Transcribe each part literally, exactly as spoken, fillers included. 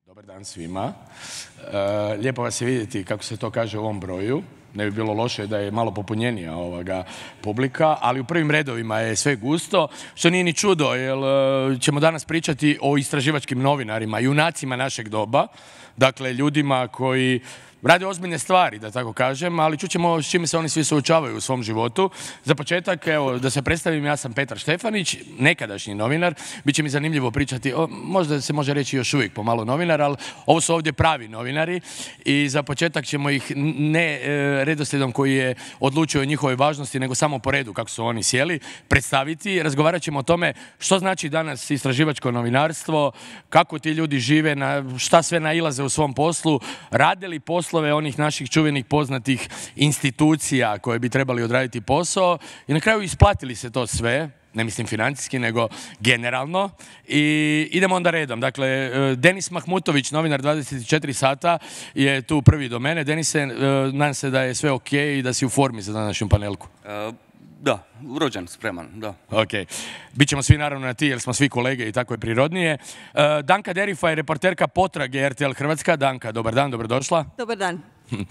Dobar dan svima. E, lijepo vas je vidjeti kako se to kaže u ovom broju. Ne bi bilo loše da je malo popunjenija ovoga publika, ali u prvim redovima je sve gusto, što nije ni čudo, jer ćemo danas pričati o istraživačkim novinarima, junacima našeg doba, dakle ljudima koji rade ozbiljne stvari, da tako kažem, ali čućemo s čime se oni svi suočavaju u svom životu. Za početak, evo, da se predstavim, ja sam Petar Štefanić, nekadašnji novinar. Biće mi zanimljivo pričati, o, možda se može reći još uvijek pomalo novinar, ali ovo su ovdje pravi novinari i za početak ćemo ih ne e, redoslijedom koji je odlučio o njihovoj važnosti, nego samo po redu kako su oni sjeli, predstaviti. Razgovarat ćemo o tome što znači danas istraživačko novinarstvo, kako ti ljudi žive, na šta sve nailaze u svom poslu, rade li poslove onih naših čuvenih poznatih institucija koje bi trebali odraditi posao i na kraju isplatili se to sve, ne mislim financijski, nego generalno. I idemo onda redom. Dakle, Denis Mahmutović, novinar dvadeset četiri sata, je tu prvi do mene. Denise, nadam se da je sve ok i da si u formi za današnju panelku. Uh, da, rođen, spreman, da. Ok. Bićemo svi naravno na ti, jer smo svi kolege i tako je prirodnije. Uh, Danka Derifa je reporterka Potrage er te el Hrvatska. Danka, dobar dan, dobrodošla. Dobar dan. Uh,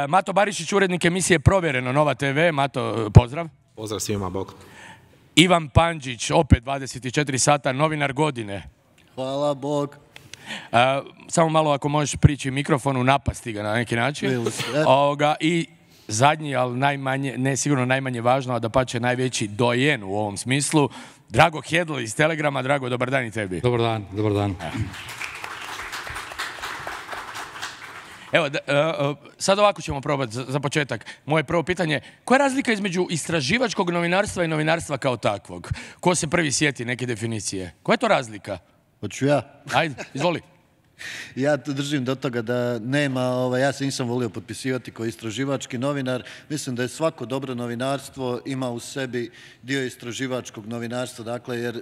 Mato Barišić, urednik emisije Provjereno, Nova te ve. Mato, pozdrav. Pozdrav svima, bog. Ivan Pandžić, opet dvadeset četiri sata, novinar godine. Hvala, bog. Uh, samo malo ako možeš prići mikrofonu, napasti ga na neki način. Ovoga, I zadnji, ali najmanje, ne sigurno najmanje važno, a da pače najveći dojen u ovom smislu, Drago Hedl iz Telegrama. Drago, dobar dan i tebi. Dobar dan, dobar dan. Evo, da, uh, sad ovako ćemo probati za, za početak. Moje prvo pitanje, koja je razlika između istraživačkog novinarstva i novinarstva kao takvog? Ko se prvi sjeti neke definicije? Koja je to razlika? Hoću ja. Ajde, izvoli. Ja držim do toga da nema, ovaj, ja se nisam volio potpisivati kao istraživački novinar. Mislim da je svako dobro novinarstvo ima u sebi dio istraživačkog novinarstva, dakle, jer e,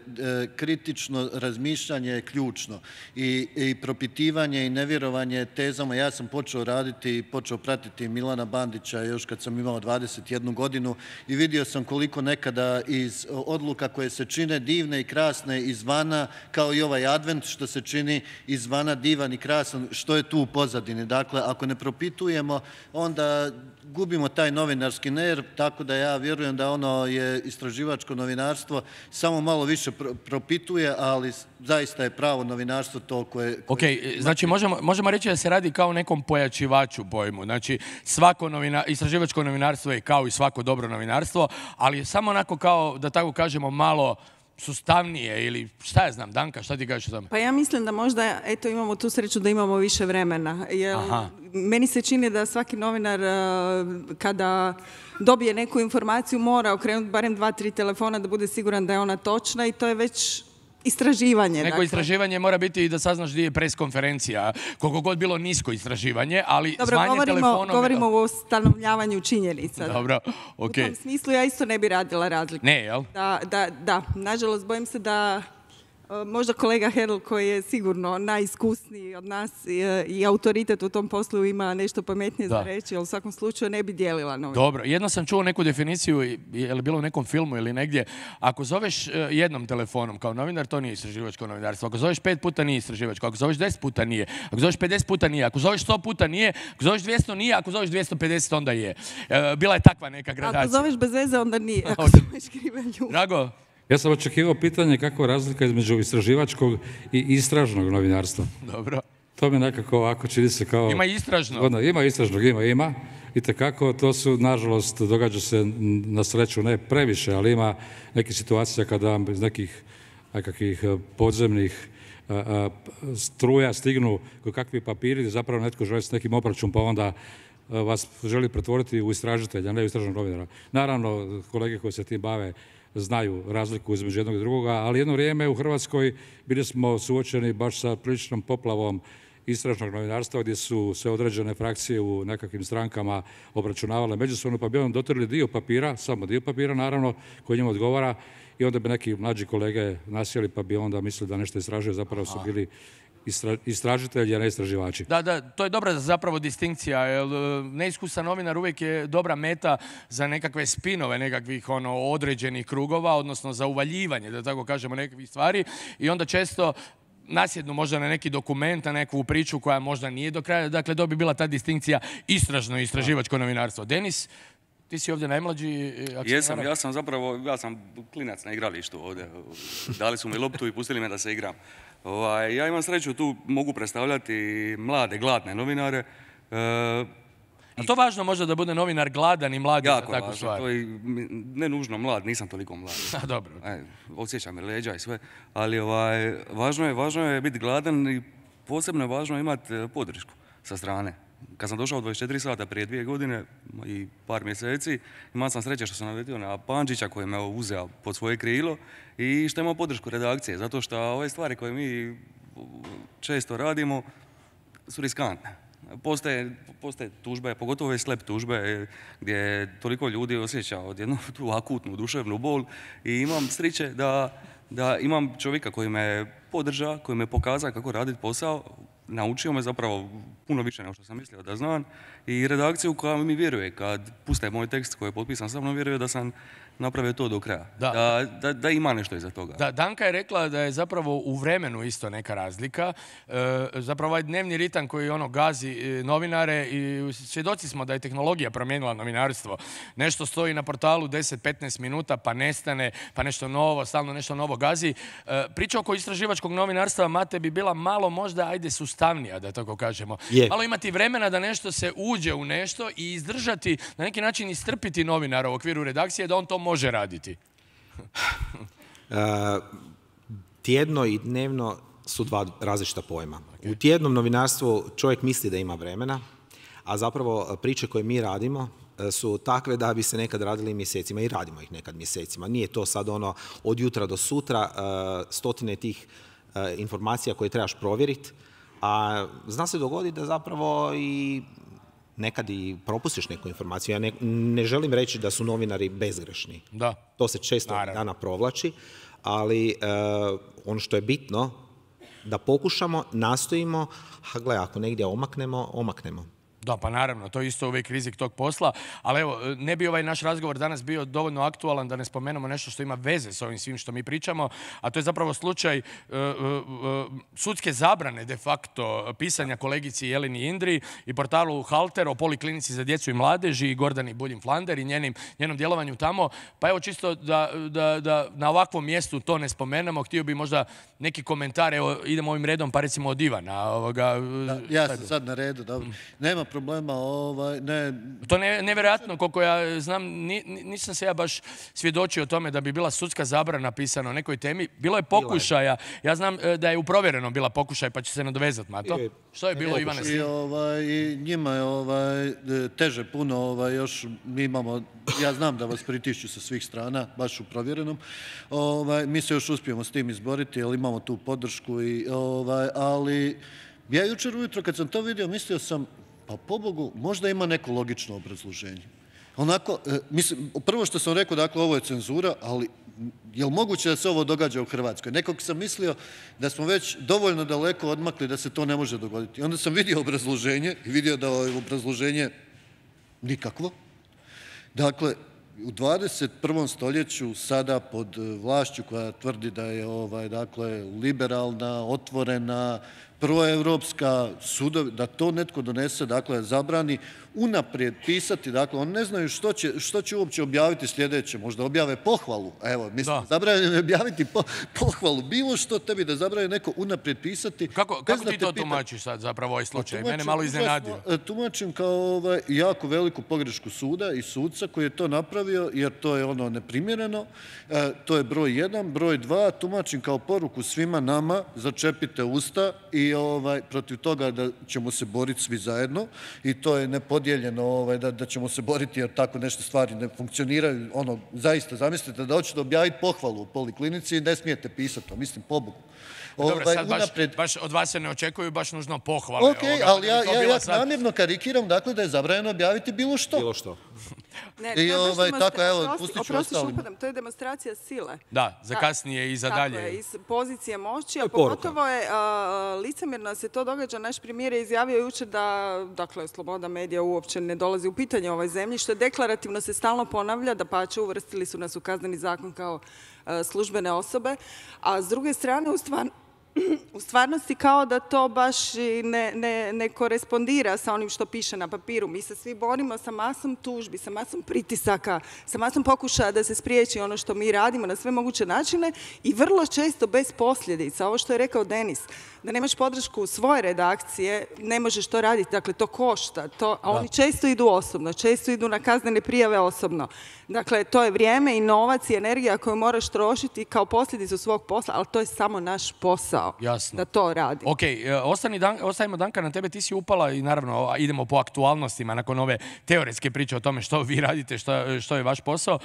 kritično razmišljanje je ključno. I, i propitivanje i nevjerovanje tezama. Ja sam počeo raditi i počeo pratiti Milana Bandića još kad sam imao dvadeset jednu godinu i vidio sam koliko nekada iz odluka koje se čine divne i krasne izvana, kao i ovaj advent što se čini izvana divan i krasan, što je tu u pozadini. Dakle, ako ne propitujemo, onda gubimo taj novinarski nerv, tako da ja vjerujem da ono je istraživačko novinarstvo samo malo više propituje, ali zaista je pravo novinarstvo to koje... koje... Ok, znači možemo, možemo reći da se radi kao o nekom pojačivaču pojmu. Znači, svako novina, istraživačko novinarstvo je kao i svako dobro novinarstvo, ali je samo onako kao, da tako kažemo, malo sustavnije ili šta ja znam, Danka, šta ti kažeš o tome? Pa ja mislim da možda, eto, imamo tu sreću da imamo više vremena. Jer meni se čini da svaki novinar kada dobije neku informaciju mora okrenuti barem dva, tri telefona da bude siguran da je ona točna i to je već istraživanje. Neko dakle. Istraživanje mora biti i da saznaš gdje je preskonferencija. Koliko god bilo nisko istraživanje, ali Dobro, zvanje govorimo, telefonom... govorimo o stanovljavanju činjenica. Dobro, ok. U tom smislu ja isto ne bi radila razliku. Ne, jel? Da, da, da. Nažalost, bojim se da možda kolega Hedl, koji je sigurno najiskusniji od nas i, i autoritet u tom poslu, ima nešto pametnije za reći, ali u svakom slučaju ne bi dijelila novinar. Dobro, jedno sam čuo neku definiciju, je li bilo u nekom filmu ili negdje, ako zoveš jednom telefonom kao novinar, to nije istraživačko novinarstvo. Ako zoveš pet puta nije istraživačko, ako zoveš deset puta nije, ako zoveš pedeset puta nije, ako zoveš sto puta nije, ako zoveš dvjesto nije, ako zoveš dvjesto pedeset onda je. Bila je takva neka gradacija. Ako zoveš bez veze onda nije, ako zoveš krive ljude. Drago? Ja sam očekivao pitanje kakva je razlika između istraživačkog i istražnog novinarstva. Dobro. To mi nekako ovako čini se kao... Ima istražno. Ono, ima istražnog, ima, ima. I tekako to su, nažalost, događa se na sreću ne previše, ali ima neke situacije kada vam iz nekih nekakvih podzemnih a, a, struja stignu kakvi papiri, zapravo netko želi s nekim obračun, pa onda vas želi pretvoriti u istražitelja, ne u istražnog novinara. Naravno, kolege koji se tim bave znaju razliku između jednog i drugoga, ali jedno vrijeme u Hrvatskoj bili smo suočeni baš sa priličnom poplavom istražnog novinarstva gdje su sve određene frakcije u nekakvim strankama obračunavale međusobno, pa bi on dotrli dio papira, samo dio papira naravno, koji njima odgovara i onda bi neki mlađi kolege nasjeli pa bi onda mislili da nešto istražuje, zapravo su bili istražitelji, a ne istraživači. Da, da, to je dobra zapravo distinkcija, jer neiskusan novinar uvijek je dobra meta za nekakve spinove nekakvih ono, određenih krugova, odnosno za uvaljivanje, da tako kažemo, nekakvih stvari i onda često nasjednu možda na neki dokument, na neku priču koja možda nije do kraja. Dakle, to bi bila ta distinkcija istražno i istraživačko novinarstvo. Denis, ti si ovdje najmlađi. Jesam, ja sam zapravo, ja sam klinac na igralištu ovdje. Dali su mi loptu i pustili me da se igram. Ovaj, ja imam sreću, tu mogu predstavljati mlade, gladne novinare. E, A to važno možda da bude novinar gladan i mlad za takvu važno, stvar? to je ne nužno mlad, nisam toliko mlad. A, dobro. E, osjećam me leđa i sve, ali ovaj, važno je, važno je biti gladan i posebno je važno imati podršku sa strane. Kad sam došao u dvadeset četiri sata prije dvije godine i par mjeseci, imao sam sreće što sam naletio na Pandžića koji me uzeo pod svoje krilo i što imao podršku redakcije, zato što ove stvari koje mi često radimo su riskantne. Postoje, postoje tužbe, pogotovo ove slep tužbe gdje toliko ljudi osjeća odjednu tu akutnu duševnu bol i imam sreće da, da imam čovjeka koji me podrža, koji me pokaza kako raditi posao, naučio me zapravo puno više nego što sam mislio da znam i redakciju koja mi vjeruje kad puste moj tekst koji je potpisan sa mnom, vjeruje da sam napravio to do kraja. Da. Da, da, da ima nešto iza toga. Da, Danka je rekla da je zapravo u vremenu isto neka razlika. E, zapravo ovaj dnevni ritam koji ono gazi novinare i svjedoci smo da je tehnologija promijenila novinarstvo. Nešto stoji na portalu deset do petnaest minuta pa nestane, pa nešto novo, stalno nešto novo gazi. E, priča oko istraživačkog novinarstva, Mate, bi bila malo možda, ajde, sustavnija, da tako kažemo. Je. Malo imati vremena da nešto se uđe u nešto i izdržati, na neki način istrpiti novinara u okviru redakcije da on to može raditi. uh, tjedno i dnevno su dva različita pojma. Okay. U tjednom novinarstvu čovjek misli da ima vremena, a zapravo priče koje mi radimo su takve da bi se nekad radili mjesecima i radimo ih nekad mjesecima. Nije to sad ono od jutra do sutra, uh, stotine tih uh, informacija koje trebaš provjeriti, a zna se dogoditi da zapravo i nekad i propustiš neku informaciju. Ja ne, ne želim reći da su novinari bezgrešni. Da. To se često Naravno. dana provlači, ali uh, ono što je bitno, da pokušamo, nastojimo, a gle, ako negdje omaknemo, omaknemo. Da, pa naravno, to je isto uvijek rizik tog posla, ali evo, ne bi ovaj naš razgovor danas bio dovoljno aktualan da ne spomenemo nešto što ima veze s ovim svim što mi pričamo, a to je zapravo slučaj uh, uh, sudske zabrane de facto pisanja kolegici Jeleni Indri i portalu Halter o poliklinici za djecu i mladeži i Gordani Buljim-Flander i njenim, njenom djelovanju tamo. Pa evo čisto da, da, da na ovakvom mjestu to ne spomenemo, htio bi možda neki komentar, evo idemo ovim redom, pa recimo od Ivana. Ovoga, da, ja sam sad na redu, dobro. Mm. Nema problema, ovaj, ne... To je nevjerojatno, koliko ja znam, ni, nisam se ja baš svjedočio o tome da bi bila sudska zabrana napisana o nekoj temi. Bilo je pokušaja, ja znam da je u Provjerenom bila pokušaj, pa će se nadovezati, Mato. Što je bilo, Ivane? I, ovaj, i njima je ovaj, teže puno, ovaj, još mi imamo, ja znam da vas pritišću sa svih strana, baš u Provjerenom. Ovaj, mi se još uspijemo s tim izboriti, jer imamo tu podršku, i, ovaj, ali ja jučer ujutro kad sam to vidio, mislio sam, pa pobogu, možda ima neko logično obrazloženje. Onako, e, mislim, prvo što sam rekao, dakle, ovo je cenzura, ali je li moguće da se ovo događa u Hrvatskoj? Nekog sam mislio da smo već dovoljno daleko odmakli da se to ne može dogoditi. I onda sam vidio obrazloženje i vidio da je obrazloženje nikakvo. Dakle, u dvadeset prvom stoljeću sada pod vlašću koja tvrdi da je ovaj, dakle, liberalna, otvorena, proevropska, sudovi, da to netko donese, dakle, zabrani unaprijed pisati, dakle, oni ne znaju što će, što će uopće objaviti sljedeće, možda objave pohvalu, evo, mislim, zabranjeno je objaviti po, pohvalu, bilo što tebi da zabrani neko unaprijed pisati. Kako, kako ti to tumačiš sad, zapravo, ovaj slučaj? Tumačim, mene malo iznenadio. Tumačim kao ovaj, jako veliku pogrešku suda i sudca koji je to napravio, jer to je ono neprimjereno, e, to je broj jedan, broj dva, tumačim kao poruku svima nama, začepite usta i ovaj, protiv toga da ćemo se boriti svi zajedno i to je nepodijeljeno ovaj, da, da ćemo se boriti jer tako nešto stvari ne funkcioniraju. Ono, zaista, zamislite da hoćete objaviti pohvalu u poliklinici i ne smijete pisati to, mislim, pobogu. Dobro, ovaj, sad unapred... baš, baš od vas se ne očekuju baš nužno pohvale. Ok, ovoga, ali ja, ja, ja sad... namjerno karikiram, dakle, da je zabranjeno objaviti bilo što. Bilo što. Ne, I ovaj, tako, evo, pustit ću ostalim. To je demonstracija sile. Da, za kasnije i za dalje. Tako je, iz pozicije moći, a pogotovo je uh, licemjerno se to događa. Naš premijer je izjavio jučer da, dakle, sloboda medija uopće ne dolazi u pitanje ovoj zemlji, što deklarativno se stalno ponavlja, da pače uvrstili su nas u kazneni zakon kao uh, službene osobe, a s druge strane, u stvar... u stvarnosti kao da to baš ne, ne, ne korespondira sa onim što piše na papiru. Mi se svi borimo sa masom tužbi, sa masom pritisaka, sa masom pokušaja da se spriječi ono što mi radimo na sve moguće načine i vrlo često bez posljedica. Ovo što je rekao Denis, da nemaš podršku svoje redakcije, ne možeš to raditi, dakle to košta, to, a oni često idu osobno, često idu na kaznene prijave osobno. Dakle, to je vrijeme i novac i energija koju moraš trošiti kao posljedicu svog posla, ali to je samo naš posao. Jasno. Da to radi. Ok, ostani Dan, ostavimo Danka na tebe, ti si upala i naravno idemo po aktualnostima nakon ove teoretske priče o tome što vi radite, što, što je vaš posao.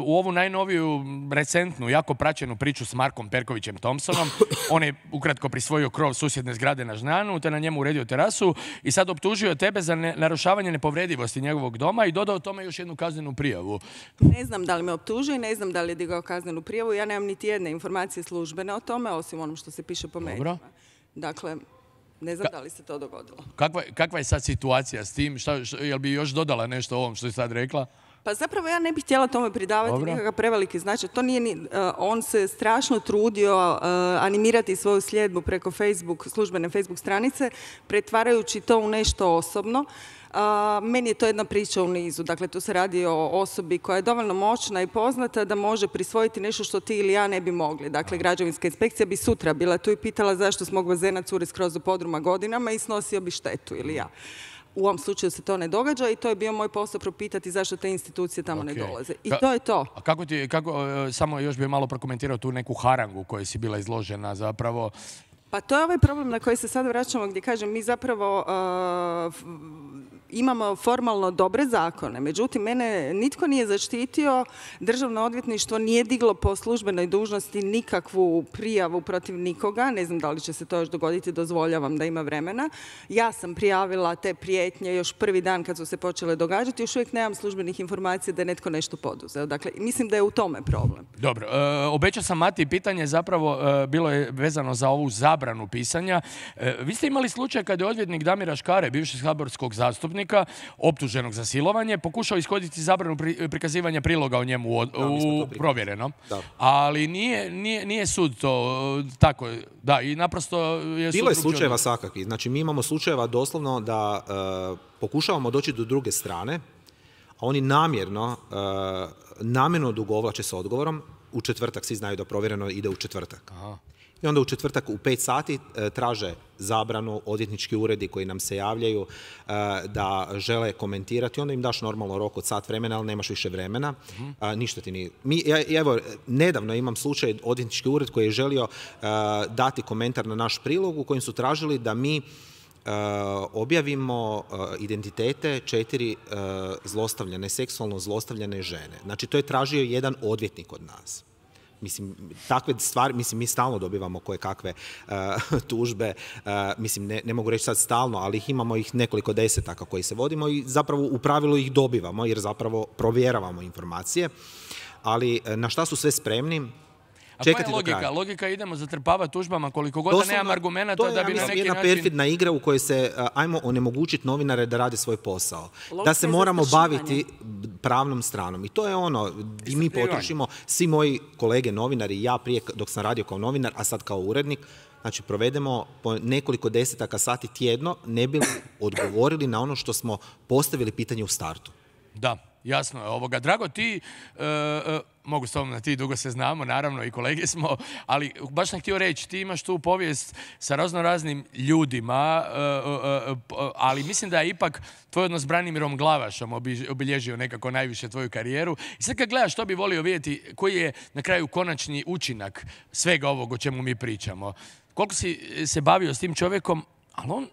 U ovu najnoviju, recentnu, jako praćenu priču s Markom Perkovićem Thompsonom, on je ukratko prisvojio krov susjedne zgrade na Žnjanu, te na njemu uredio terasu i sad optužio tebe za ne, narušavanje nepovredivosti njegovog doma i dodao tome još jednu kaznenu prijavu. Ne znam da li me optužuje, ne znam da li je digao kaznenu prijavu, ja nemam niti jedne informacije službene o tome, osim onom što se piše po medijima. Dakle, ne znam Ka da li se to dogodilo. Kakva, kakva je sad situacija s tim? Šta, šta, jel bi još dodala nešto o ovom što je sad rekla? Pa zapravo ja ne bih htjela tome pridavati Dobro. nikakav preveliki značaj. To nije ni, uh, on se strašno trudio uh, animirati svoju sljedbu preko Facebook, službene Facebook stranice, pretvarajući to u nešto osobno. Uh, meni je to jedna priča u nizu. Dakle, tu se radi o osobi koja je dovoljno moćna i poznata da može prisvojiti nešto što ti ili ja ne bi mogli. Dakle, građevinska inspekcija bi sutra bila tu i pitala zašto s mog bazena curi skroz do podruma godinama i snosio bi štetu ili ja. U ovom slučaju se to ne događa i to je bio moj posao propitati zašto te institucije tamo okay. ne dolaze. I Ka to je to. A kako ti, kako, samo još bih malo prokomentirao tu neku harangu koju si bila izložena zapravo? Pa to je ovaj problem na koji se sad vraćamo gdje kažem mi zapravo uh, imamo formalno dobre zakone, međutim mene nitko nije zaštitio, državno odvjetništvo nije diglo po službenoj dužnosti nikakvu prijavu protiv nikoga, ne znam da li će se to još dogoditi, dozvoljavam da ima vremena. Ja sam prijavila te prijetnje još prvi dan kad su se počele događati, još uvijek nemam službenih informacija da je netko nešto poduzeo. Dakle, mislim da je u tome problem. Dobro, e, obećao sam Mati pitanje, zapravo e, bilo je vezano za ovu zabranu pisanja. E, vi ste imali slučaj kada je odvjetnik Damira Škare, bivši saborskog zastupnika, optuženog za silovanje, pokušao ishoditi zabranu pri, prikazivanja priloga o njemu u, da, u provjereno. Da. Ali nije, nije, nije sud to tako. Da, i naprosto je bilo je slučajeva svakakvih. Znači, mi imamo slučajeva doslovno da uh, pokušavamo doći do druge strane, a oni namjerno, uh, namjerno odugovlače s odgovorom. U četvrtak, svi znaju da provjereno ide u četvrtak. Aha. I onda u četvrtak u pet sati e, traže zabranu odvjetnički uredi koji nam se javljaju e, da žele komentirati. Onda im daš normalno rok od sat vremena, ali nemaš više vremena. Uh-huh. A, ništa ti nije. Mi, ja, evo, nedavno imam slučaj odvjetnički ured koji je želio e, dati komentar na naš prilog u kojem su tražili da mi e, objavimo e, identitete četiri e, zlostavljane, seksualno zlostavljane žene. Znači, to je tražio jedan odvjetnik od nas. Mislim, takve stvari, mislim, mi stalno dobivamo koje kakve uh, tužbe, uh, mislim, ne, ne mogu reći sad stalno, ali ih imamo ih nekoliko desetaka koji se vodimo i zapravo u pravilu ih dobivamo jer zapravo provjeravamo informacije, ali na šta su sve spremni? A koja je logika? Logika idemo zatrpavati tužbama koliko god da nemam argumenta da bi na neki način... To je jedna perfidna igra u kojoj se, ajmo onemogućiti novinare da rade svoj posao. Logika da se moramo baviti pravnom stranom. I to je ono, i mi potrošimo, svi moji kolege novinari, ja prije dok sam radio kao novinar, a sad kao urednik, znači provedemo po nekoliko desetaka sati tjedno, ne bi odgovorili na ono što smo postavili pitanje u startu. Da, jasno je ovoga. Drago, ti... Uh, uh, mogu s tobom na ti, dugo se znamo, naravno i kolege smo, ali baš sam htio reći, ti imaš tu povijest sa razno raznim ljudima, ali mislim da je ipak tvoj odnos s Branimirom Glavašom obilježio nekako najviše tvoju karijeru. I sad kad gledaš, što bi volio vidjeti, koji je na kraju konačni učinak svega ovog o čemu mi pričamo. Koliko si se bavio s tim čovjekom, ali on...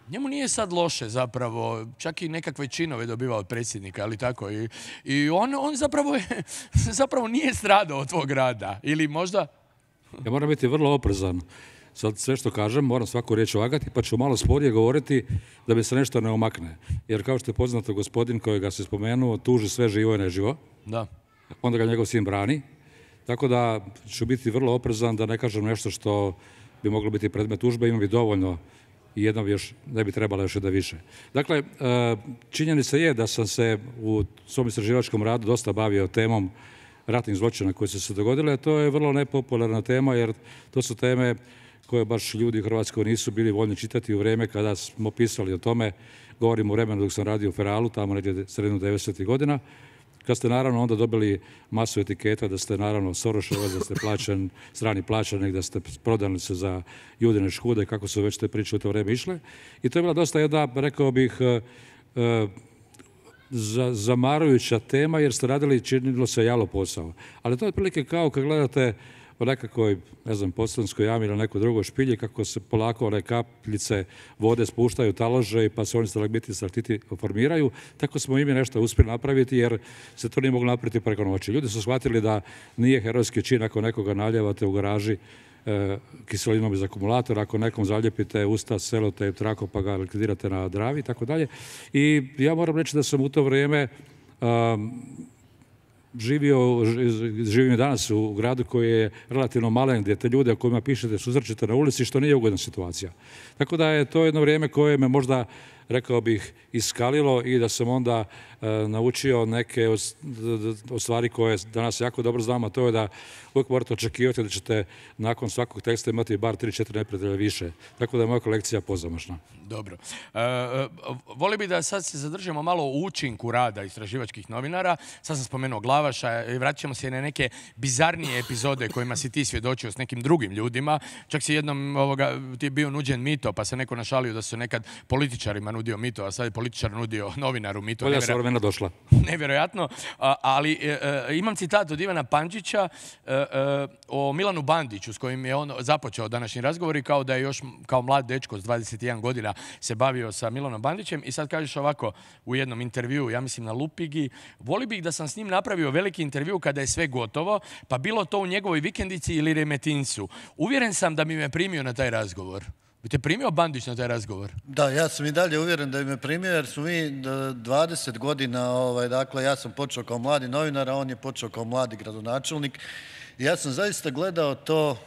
Njemu nije sad loše zapravo, čak i nekakve činove dobivao od predsjednika, ali tako. I, i on, on zapravo, je, zapravo nije stradao od tvog rada. Ili možda... Ja moram biti vrlo oprezan. Sad sve što kažem, moram svaku riječ vagati, pa ću malo sporije govoriti da bi se nešto ne omakne. Jer kao što je poznato gospodin kojega se spomenuo, tuži sve živo i neživo. Da. Onda ga njegov sin brani. Tako da ću biti vrlo oprezan da ne kažem nešto što bi moglo biti predmet tužbe. Imam bi dovoljno i jedno bi još, ne bi trebalo još da više. Dakle, činjenica je da sam se u svom istraživačkom radu dosta bavio temom ratnih zločina koje su se dogodile. To je vrlo nepopularna tema jer to su teme koje baš ljudi u Hrvatskoj nisu bili voljni čitati u vrijeme kada smo pisali o tome. Govorim u vremenu dok sam radio u Feralu, tamo negdje sredinom devedesetih godina. Kad ste naravno onda dobili masu etiketa da ste naravno Soroševac, da ste plaćan, strani plaćanik, da ste prodani se za Judine škude, kako su već te priče u to vrijeme išle. I to je bila dosta jedna, rekao bih, zamarujuća tema jer ste radili, činilo se jalo posao. Ali to je otprilike kao kad gledate u nekakvoj, ne znam, Podsljemskoj jami ili nekoj drugoj špilji, kako se polako one kapljice vode spuštaju talože pa se oni stalagmiti, stalktiti formiraju. Tako smo i mi nešto uspjeli napraviti jer se to nije moglo napraviti preko noći. Ljudi su shvatili da nije herojski čin ako nekoga naljevate u garaži e, kiselinom iz akumulatora, ako nekom zaljepite usta, selotejp, trako pa ga likvidirate na Dravi i tako dalje. I ja moram reći da sam u to vrijeme um, živio, živim i danas u gradu koji je relativno malen, gdje te ljude o kojima pišete susrećete na ulici, što nije ugodna situacija. Tako da je to jedno vrijeme koje me možda, rekao bih, iskalilo i da sam onda e, naučio neke od, od stvari koje danas jako dobro znam, a to je da uvijek morate očekivati da ćete nakon svakog teksta imati bar tri četiri neprijatelja više. Tako da je moja kolekcija pozamašna. Dobro. E, e, voli bi da sad se zadržimo malo u učinku rada istraživačkih novinara. Sad sam spomenuo Glavaša i vratit ćemo se na neke bizarnije epizode kojima si ti svjedočio s nekim drugim ljudima. Čak si jednom ovoga, ti je bio nuđen mito, pa se neko našalio da su nekad političarima nudio mito, a sad je političar nudio novinaru mito. Bolja su vremena došla. Nevjerojatno. A, ali e, e, imam citat od Ivana Pančića e, e, o Milanu Bandiću s kojim je on započeo današnji razgovor i kao da je još kao mlad dečko s dvadeset jedan godina se bavio sa Milanom Bandićem i sad kažeš ovako u jednom intervjuu, ja mislim na Lupigi, voli bih da sam s njim napravio veliki intervju kada je sve gotovo, pa bilo to u njegovoj vikendici ili Remetincu. Uvjeren sam da bi me primio na taj razgovor. Bi te primio Bandić na taj razgovor? Da, ja sam i dalje uvjeren da bi me primio jer smo mi dvadeset godina, ovaj, dakle ja sam počeo kao mladi novinar, a on je počeo kao mladi gradonačelnik. I ja sam zaista gledao to,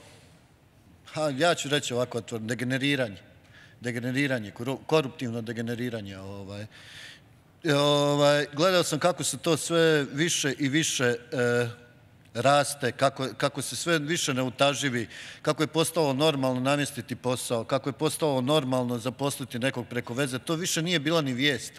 ha, ja ću reći ovako, degeneriranje. Degeneriranje, koruptivno degeneriranje. Ovaj. Ovaj, gledao sam kako se to sve više i više e, raste, kako, kako se sve više neutaživi, kako je postalo normalno namjestiti posao, kako je postalo normalno zaposliti nekog preko veze. To više nije bila ni vijest,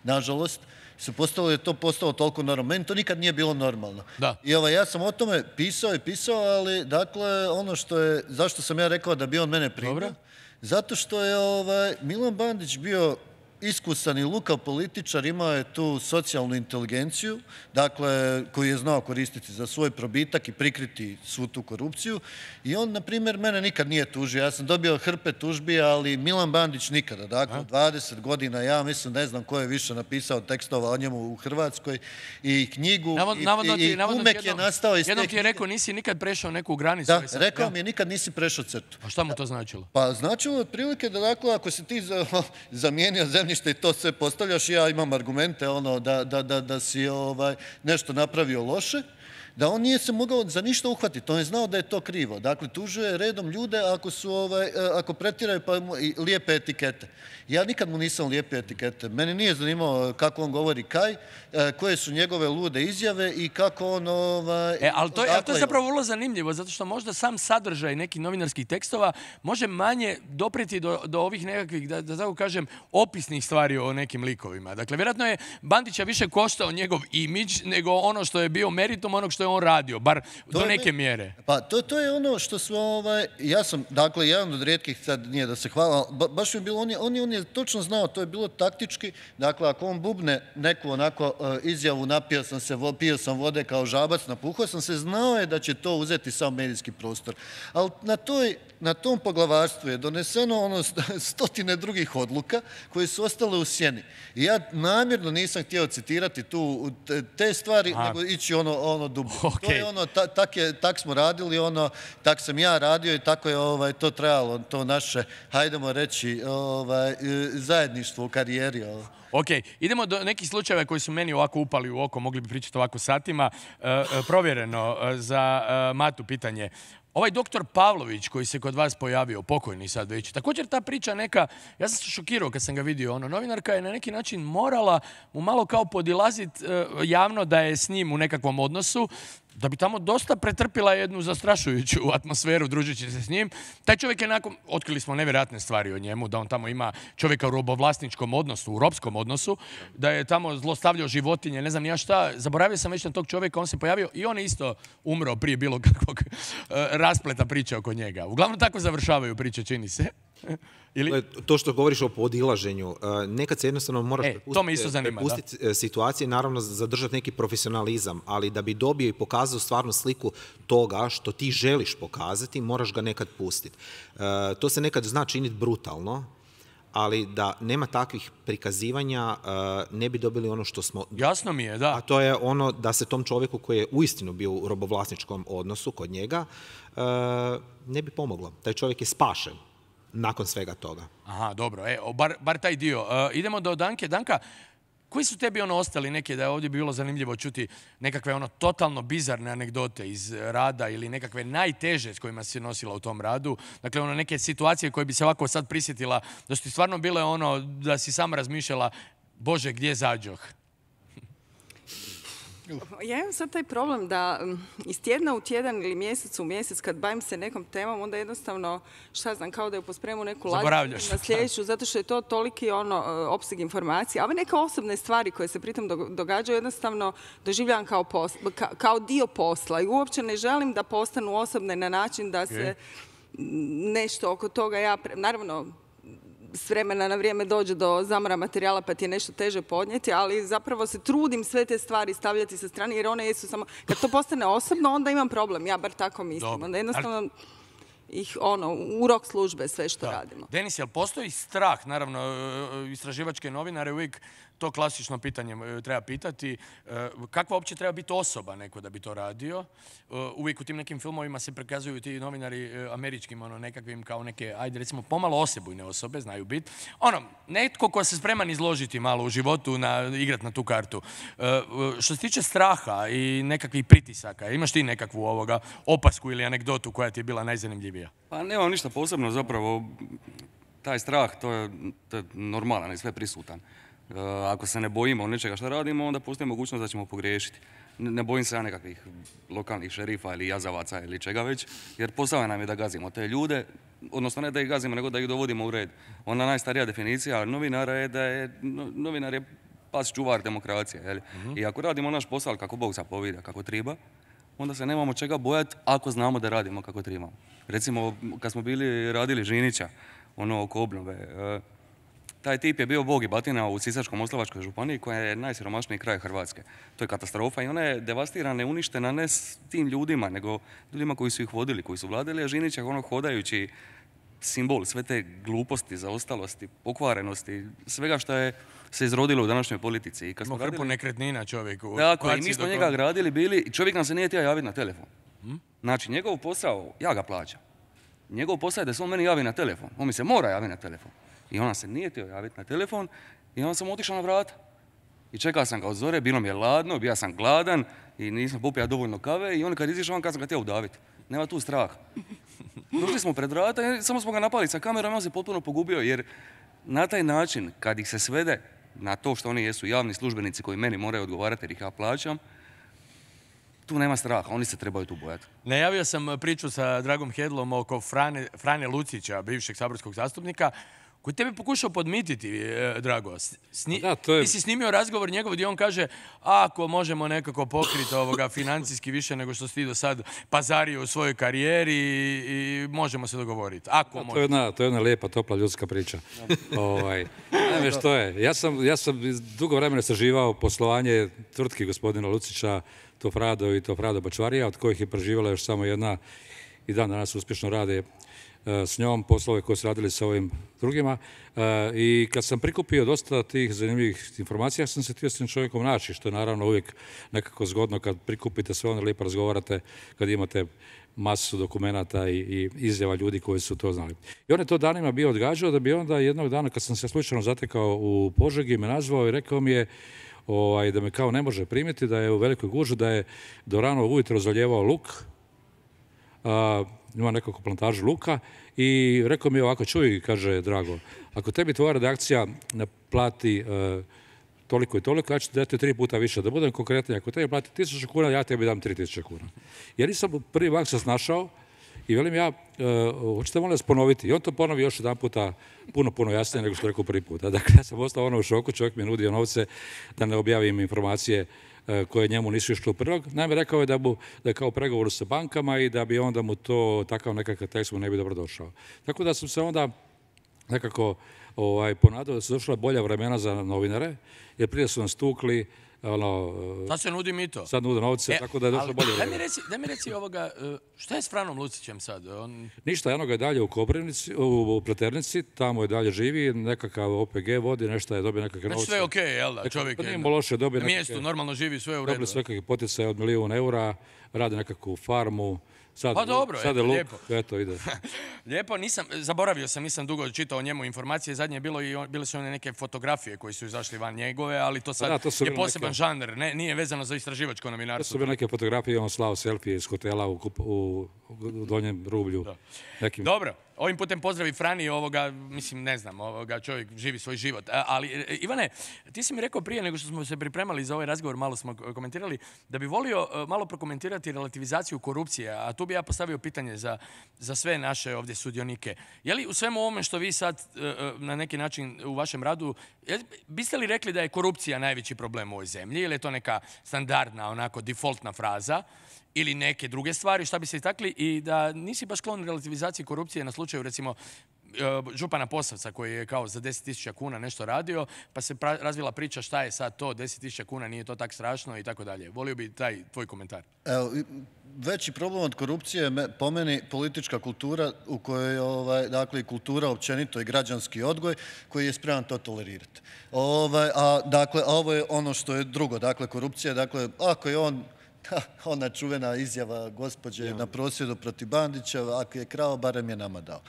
nažalost. Se postalo je to postalo toliko normalno. Meni to nikad nije bilo normalno. Da. I ovaj, ja sam o tome pisao i pisao, ali dakle, ono što je, zašto sam ja rekao da bi on mene primio? Dobro. Zato što je ovaj, Milan Bandić bio iskusan i lukav političar, imao je tu socijalnu inteligenciju, dakle, koju je znao koristiti za svoj probitak i prikriti svu tu korupciju. I on, na primjer, mene nikad nije tužio. Ja sam dobio hrpe tužbi, ali Milan Bandić nikada. Dakle, dvadeset godina, ja mislim, ne znam ko je više napisao tekstova o njemu u Hrvatskoj i knjigu Navod, i, navodno ti, i, i kumek je nastao iz te jednom ti je rekao, nisi nikad prešao neku granicu. Da, sam, rekao ja. mi je, nikad nisi prešao crtu. A šta mu to značilo? Pa značilo otprilike da, dakle, ako si ti za, zamijenio zemljište i to sve postavljaš, ja imam argumente ono, da, da, da, da si ovaj, nešto napravio loše, da on nije se mogao za ništa uhvatiti. On je znao da je to krivo. Dakle, tužuje redom ljude ako, su, ovaj, ako pretiraju pa i lijepe etikete. Ja nikad mu nisam lijepe etikete. Mene nije zanimao kako on govori kaj, koje su njegove lude izjave i kako on... Ovaj, e, ali to, ali to je zapravo vrlo zanimljivo, zato što možda sam sadržaj nekih novinarskih tekstova može manje dopreti do, do ovih nekakvih, da, da tako kažem, opisnih stvari o nekim likovima. Dakle, vjerojatno je Bandića više koštao njegov imidž nego ono što je bio meritum onog što je on radio, bar to do neke je, mjere. Pa to, to je ono što su, ovaj, ja sam, dakle, jedan od rijetkih, sad nije da se hvala, ba, baš mi je bilo, on je, on, je, on je točno znao, to je bilo taktički, dakle, ako on bubne neku onako uh, izjavu, napio sam se, pio sam vode kao žabac, napuhao sam se, znao je da će to uzeti sam medijski prostor. Ali na, toj, na tom poglavarstvu je doneseno ono stotine drugih odluka koje su ostale u sjeni. I ja namjerno nisam htio citirati tu te stvari, Aha. nego ići ono, ono dublje. Okay. To je ono, ta, tak, je, tak smo radili, ono, tak sam ja radio i tako je ovaj, to trajalo, to naše, hajdemo reći, ovaj, zajedništvo u karijeri. Ovaj. Ok, idemo do nekih slučajeva koji su meni ovako upali u oko, mogli bi pričati ovako satima. E, provjereno za e, Matu pitanje. Ovaj doktor Pavlović koji se kod vas pojavio, pokojni sad već, također ta priča neka, ja sam se šokirao kad sam ga vidio, ono, novinarka je na neki način morala mu malo kao podilaziti e, javno da je s njim u nekakvom odnosu. da bi tamo dosta pretrpila jednu zastrašujuću atmosferu družeći se s njim. Taj čovjek je nakon, otkrili smo nevjerojatne stvari o njemu, da on tamo ima čovjeka u robovlasničkom odnosu, u ropskom odnosu, da je tamo zlostavljao životinje, ne znam ni ja šta. Zaboravio sam već na tog čovjeka, on se pojavio i on je isto umro prije bilo kakvog raspleta priče oko njega. Uglavnom tako završavaju priče, čini se. Ili? To što govoriš o podilaženju, nekad se jednostavno moraš e, prepustiti situacije, naravno zadržati neki profesionalizam, ali da bi dobio i pokazao stvarnu sliku toga što ti želiš pokazati, moraš ga nekad pustiti. To se nekad zna činiti brutalno, ali da nema takvih prikazivanja ne bi dobili ono što smo... Jasno mi je, da. A to je ono da se tom čovjeku koji je uistinu bio u robovlasničkom odnosu kod njega ne bi pomoglo. Taj čovjek je spašen nakon svega toga. Aha, dobro. E, bar, bar taj dio. Uh, idemo do Danke. Danka, koji su tebi ono ostali neke, da je ovdje bilo zanimljivo čuti nekakve ono totalno bizarne anegdote iz rada ili nekakve najteže s kojima si se nosila u tom radu? Dakle, ono neke situacije koje bi se ovako sad prisjetila, da su ti stvarno bile ono, da si sama razmišljala, Bože, gdje zađoh? Ja imam sad taj problem da iz tjedna u tjedan ili mjesec u mjesec kad bavim se nekom temom, onda jednostavno, šta znam, kao da je pospremu neku lađu na sljedeću, zato što je to toliki ono, opseg informacija. A ove neke osobne stvari koje se pritom događaju jednostavno doživljavam kao, posla, ka, kao dio posla i uopće ne želim da postanu osobne na način da se nešto oko toga ja... Naravno, s vremena na vrijeme dođe do zamora materijala pa ti je nešto teže podnijeti, ali zapravo se trudim sve te stvari stavljati sa strane jer one jesu samo... Kad to postane osobno, onda imam problem. Ja bar tako mislim. Dobro. Onda jednostavno ih, ono, u rok službe sve što da. radimo. Denis, jel postoji strah, naravno, istraživačke novinare uvijek to klasično pitanje treba pitati. Kakva uopće treba biti osoba neko da bi to radio? Uvijek u tim nekim filmovima se prikazuju ti novinari američkim, ono, nekakvim kao neke, ajde recimo, pomalo osebujne osobe, znaju biti. Ono, netko ko se spreman izložiti malo u životu, na, igrat na tu kartu. Što se tiče straha i nekakvih pritisaka, imaš ti nekakvu ovoga opasku ili anegdotu koja ti je bila najzanimljivija? Pa nemam ništa posebno, zapravo taj strah, to je, to je normalan i sve prisutan. Uh, ako se ne bojimo nečega što radimo, onda postoji mogućnost da ćemo pogriješiti. Ne, ne bojim se ja nekakvih lokalnih šerifa ili jazavaca ili čega već, jer posao nam je da gazimo te ljude, odnosno ne da ih gazimo, nego da ih dovodimo u red. Ona najstarija definicija novinara je da je no, novinar je pas čuvar demokracije. Jel? Mm-hmm. I ako radimo naš posao kako Bog zapovida, kako treba, onda se nemamo čega bojati ako znamo da radimo kako trebamo. Recimo, kad smo bili radili Žinića, ono oko obnove, uh, taj tip je bio bog i batina u Sisačko-moslavačkoj županiji koja je najsiromašniji kraj Hrvatske. To je katastrofa i ona je devastirana i uništena ne s tim ljudima, nego ljudima koji su ih vodili, koji su vladali, a Žinić je ono hodajući simbol sve te gluposti, zaostalosti, pokvarenosti, svega što je se izrodilo u današnjoj politici. I kad smo hrpu radili... nekretnina čovjeku. Tako, i mi smo njega gradili bili i čovjek nam se nije htio javiti na telefon. Hmm? Znači, njegov posao, ja ga plaćam. Njegov posao je da se on meni javi na telefon. On mi se mora javiti na telefon. I ona se nije htio javiti na telefon i onda sam otišao na vrata. I čekao sam ga od zore, bilo mi je ladno, bio sam gladan i nisam popio dovoljno kave i on kad izišao, on kad sam ga htio udaviti. Nema tu strah. Došli smo pred vrata i samo smo ga napali sa kamerom i on se potpuno pogubio jer na taj način, kad ih se svede na to što oni jesu javni službenici koji meni moraju odgovarati jer ih ja plaćam, tu nema straha, oni se trebaju tu bojati. Najavio sam priču sa Dragom Hedlom oko Frane, Frane Lucića, bivšeg saborskog zastupnika, koji tebi pokušao podmititi, Drago. Sni... Da, je... Ti si snimio razgovor njegov gdje on kaže ako možemo nekako pokriti ovoga financijski više nego što si ti do sad pazario u svojoj karijeri i, i možemo se dogovoriti. Ako da, to, je jedna, to je jedna lijepa, topla ljudska priča. ovaj, Naime, što je? Ja sam, ja sam dugo vremena istraživao poslovanje tvrtki gospodina Lucića, Tofrado i Tofrado Bačvarija, od kojih je preživala još samo jedna i dan danas uspješno rade s njom, poslove koje su radili sa ovim drugima. I kad sam prikupio dosta tih zanimljivih informacija, ja sam se htio s tim čovjekom naći, što je naravno uvijek nekako zgodno kad prikupite sve ono, lijepo razgovarate, kad imate masu dokumenata i, i izjava ljudi koji su to znali. I on je to danima bio odgađao da bi onda jednog dana, kad sam se slučajno zatekao u Požegi, me nazvao i rekao mi je ovaj, da me kao ne može primiti, da je u velikoj gužu, da je do rano ujutro zalijevao luk, a, ima nekako plantažu luka i rekao mi ovako, čuj, kaže Drago, ako tebi tvoja redakcija naplati uh, toliko i toliko, ja ću dati tri puta više. Da budem konkretniji, ako tebi plati tisuću kuna, ja tebi dam tri tisuće kuna. Jer nisam prvi bank se snašao i velim ja, hoćete molim vas ponoviti. I on to ponovi još jedan puta puno, puno jasnije nego što rekao prvi puta. Dakle, ja sam ostao ono u šoku, čovjek mi je nudio novce da ne objavim informacije koje njemu nisu išle u prilog. Naime, rekao je da, bu, da je kao pregovor sa bankama i da bi onda mu to takav nekakav tekst mu ne bi dobro došao. Tako da sam se onda nekako ovaj, ponadao da su došla bolja vremena za novinare, jer prije su nas tukli, ono... Sad se nudi mito. Sad nude novce, e, tako da je došlo bolje vremena. Daj mi reci, daj mi reci ovoga, šta je s Franom Lucićem sad? On... Ništa, jedno ga je dalje u Koprivnici, u Pleternici, tamo je dalje živi, nekakav O P G vodi, nešto je dobio nekakve novce. Znači sve je okej, jel da, čovjek je na, loše, dobio na mjestu, normalno živi, sve je u redu. Dobili sve kakve poticaje od milijun eura, rade nekakvu farmu. Sad, pa dobro, sad eto, luk, lijepo. Eto, ide. Lijepo, nisam, zaboravio sam, nisam dugo čitao o njemu informacije, zadnje je bilo i on, bile su one neke fotografije koji su izašli van njegove, ali to sad da, to je poseban neke... žanr, ne, nije vezano za istraživačko novinarstvo. To su bile neke fotografije, on slao selfije iz hotela u, u, u donjem rublju. Nekim... Dobro. Ovim putem pozdravi Frani, ovoga, mislim, ne znam, ovoga, čovjek živi svoj život. Ali, Ivane, ti si mi rekao prije nego što smo se pripremali za ovaj razgovor, malo smo komentirali, da bi volio malo prokomentirati relativizaciju korupcije, a tu bi ja postavio pitanje za, za sve naše ovdje sudionike. Je li u svemu ovome što vi sad na neki način u vašem radu, biste li rekli da je korupcija najveći problem u ovoj zemlji ili je to neka standardna, onako, defaultna fraza? Ili neke druge stvari, šta bi se istakli, i da nisi baš sklon relativizaciji korupcije na slučaju, recimo, župana Posavca koji je kao za deset tisuća kuna nešto radio, pa se razvila priča šta je sad to, deset tisuća kuna, nije to tak strašno i tako dalje. Volio bi taj tvoj komentar. Evo, veći problem od korupcije je po meni politička kultura u kojoj, ovaj, dakle, i kultura općenito i građanski odgoj koji je spreman to tolerirati. Ovaj, a, dakle, a ovo je ono što je drugo, dakle, korupcija, dakle, ako je on ona čuvena izjava gospođe na prosvjedu protiv Bandića, ako je krao, barem je nama dao.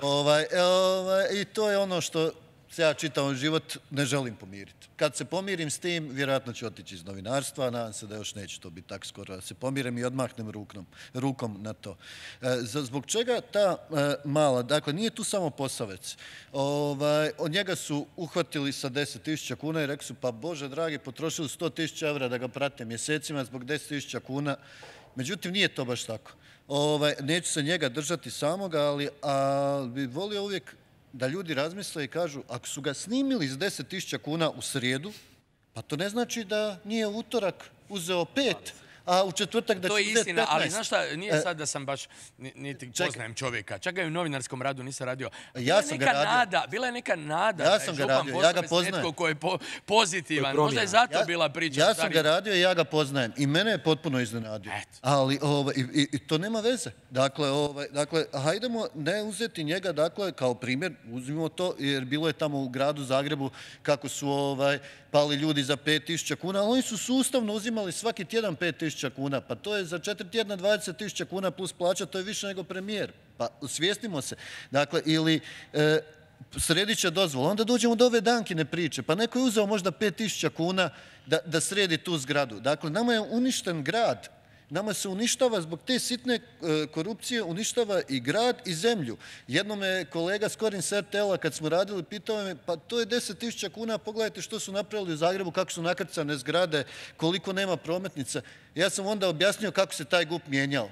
Ovaj, ovaj, I to je ono što se ja čitavom život ne želim pomiriti. Kad se pomirim s tim, vjerojatno ću otići iz novinarstva, nadam se da još neće to biti tako skoro, da se pomirim i odmahnem rukom, rukom na to. E, zbog čega ta e, mala, dakle, nije tu samo Posavec. Ovaj, od njega su uhvatili sa deset tisuća kuna i rekli su, pa Bože dragi, potrošili sto tisuća evra da ga prate mjesecima zbog deset tisuća kuna. Međutim, nije to baš tako. Ovaj, neću se njega držati samoga, ali a, bi volio uvijek da ljudi razmisle i kažu, ako su ga snimili s deset tisuća kuna u srijedu, pa to ne znači da nije u utorak uzeo pet, a u četvrtak da će uzeti petnaest. To je istina, ali znaš šta, nije sad da sam baš, niti poznajem čovjeka, čak ga i u novinarskom radu nisam radio. Ja sam ga radio. Bila je neka nada ja sam ga radio, ja ga poznajem. Netko koji je pozitivan, možda je zato bila priča. Ja sam ga radio i ja ga poznajem i mene je potpuno iznenadio. Ali i to nema veze. Dakle, dakle, hajdemo ne uzeti njega, dakle, kao primjer, uzmimo to, jer bilo je tamo u gradu Zagrebu kako su ovaj, pali ljudi za pet tisuća kuna, ali oni su sustavno uzimali svaki tjedan pet tisuća kuna, pa to je za četiri tjedna dvadeset tisuća kuna plus plaća, to je više nego premijer. Pa svijestimo se. Dakle, ili e, sredit će dozvolu, onda dođemo do ove Dankine priče, pa neko je uzeo možda pet tisuća kuna da, da sredi tu zgradu. Dakle, nama je uništen grad. Nama se uništava zbog te sitne korupcije, uništava i grad i zemlju. Jednom je kolega Skorin s R T L-a kad smo radili pitao me, pa to je deset tisuća kuna, pogledajte što su napravili u Zagrebu, kako su nakrcane zgrade, koliko nema prometnica. Ja sam onda objasnio kako se taj G U P mijenjao.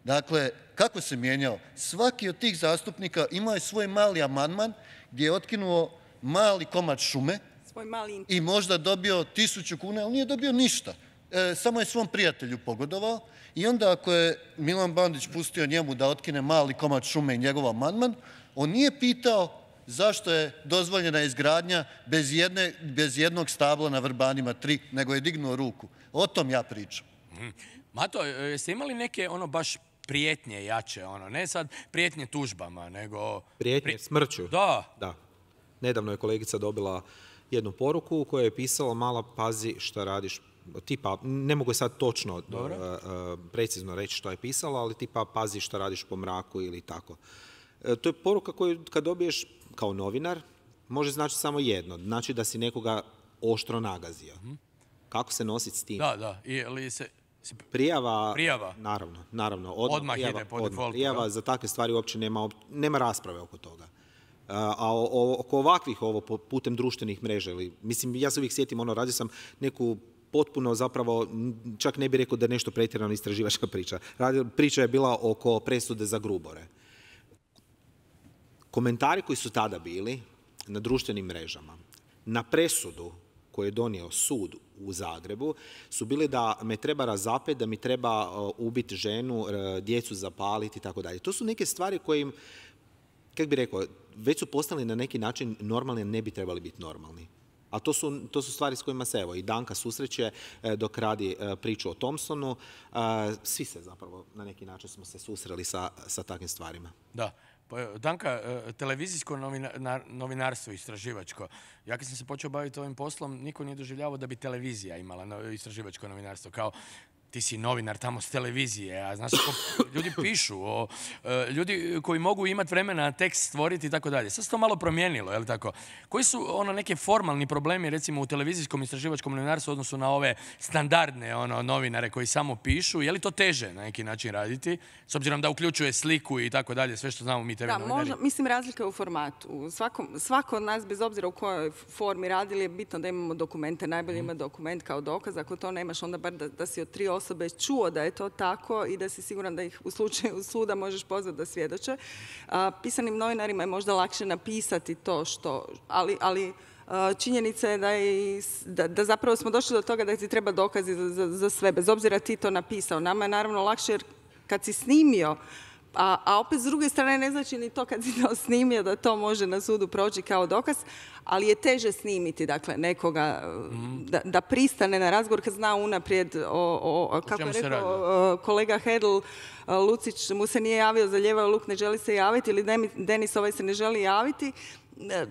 Dakle, kako se mijenjao? Svaki od tih zastupnika imao je svoj mali amandman gdje je otkinuo mali komad šume i možda dobio tisuću kuna, ali nije dobio ništa. E, samo je svom prijatelju pogodovao i onda ako je Milan Bandić pustio njemu da otkine mali komad šume i njegov amandman, on nije pitao zašto je dozvoljena izgradnja bez, jedne, bez jednog stabla na Vrbanima tri, nego je dignuo ruku. O tom ja pričam. Mm. Mato, jeste imali neke ono baš prijetnje jače, ono, ne sad prijetnje tužbama, nego... Prijetnje smrću? Da. Da. Nedavno je kolegica dobila jednu poruku u kojoj je pisalo mala pazi šta radiš, tipa, ne mogu sad točno uh, uh, precizno reći što je pisalo, ali tipa pazi šta radiš po mraku ili tako. Uh, to je poruka koju kad dobiješ kao novinar, može znači samo jedno, znači da si nekoga oštro nagazio. Mm-hmm. Kako se nositi s tim? Da, da, ili se... Prijava, prijava, naravno, naravno. Odmah, odmah prijava, ide po odmah. defaultu. Prijava za takve stvari uopće nema, nema rasprave oko toga. A oko ovakvih ovo putem društvenih mreža, ili, mislim, ja se uvijek sjetim, ono, radio sam neku potpuno zapravo, čak ne bih rekao da je nešto pretjerano istraživačka priča. Priča je bila oko presude za Grubore. Komentari koji su tada bili na društvenim mrežama, na presudu koju je donio sud u Zagrebu, su bili da me treba razapeti, da mi treba ubiti ženu, djecu zapaliti i tako dalje. To su neke stvari koje im, kako bi rekao, već su postali na neki način normalni, a ne bi trebali biti normalni. A to su, to su stvari s kojima se evo i Danka susreće dok radi priču o Thompsonu. Svi se zapravo na neki način smo se susreli sa, sa takvim stvarima. Da. Danka, televizijsko novinarstvo istraživačko. Ja kad sam se počeo baviti ovim poslom, niko nije doživljavao da bi televizija imala istraživačko novinarstvo. Kao, ti si novinar tamo s televizije, a znaš kako ljudi pišu, o, ljudi koji mogu imati vremena tekst stvoriti i tako dalje. Sad se to malo promijenilo, je li tako? Koji su ono neke formalni problemi, recimo u televizijskom istraživačkom novinarstvu u odnosu na ove standardne ono, novinare koji samo pišu? Je li to teže na neki način raditi? S obzirom da uključuje sliku i tako dalje, sve što znamo mi te novinari. Da, možda, mislim, razlika je u formatu. Svako, svako od nas, bez obzira u kojoj formi radili, je bitno da imamo dokumente. Najbolje ima dokument kao dokaz. Ako to nemaš, onda bar da, da si od tri osobe čuo da je to tako i da si siguran da ih u slučaju suda možeš pozvati da svjedoče. A, pisanim novinarima je možda lakše napisati to što, ali, ali a, činjenica je da, je da, da zapravo smo došli do toga da ti treba dokazi za, za, za sve, bez obzira ti to napisao. Nama je naravno lakše jer kad si snimio, A, a opet s druge strane ne znači ni to kad si to snimio da to može na sudu proći kao dokaz, ali je teže snimiti dakle, nekoga mm. da, da pristane na razgovor kad zna unaprijed o, o kako je rekao kolega Hedl, Lucić mu se nije javio za ljevao luk, ne želi se javiti ili Denis ovaj se ne želi javiti.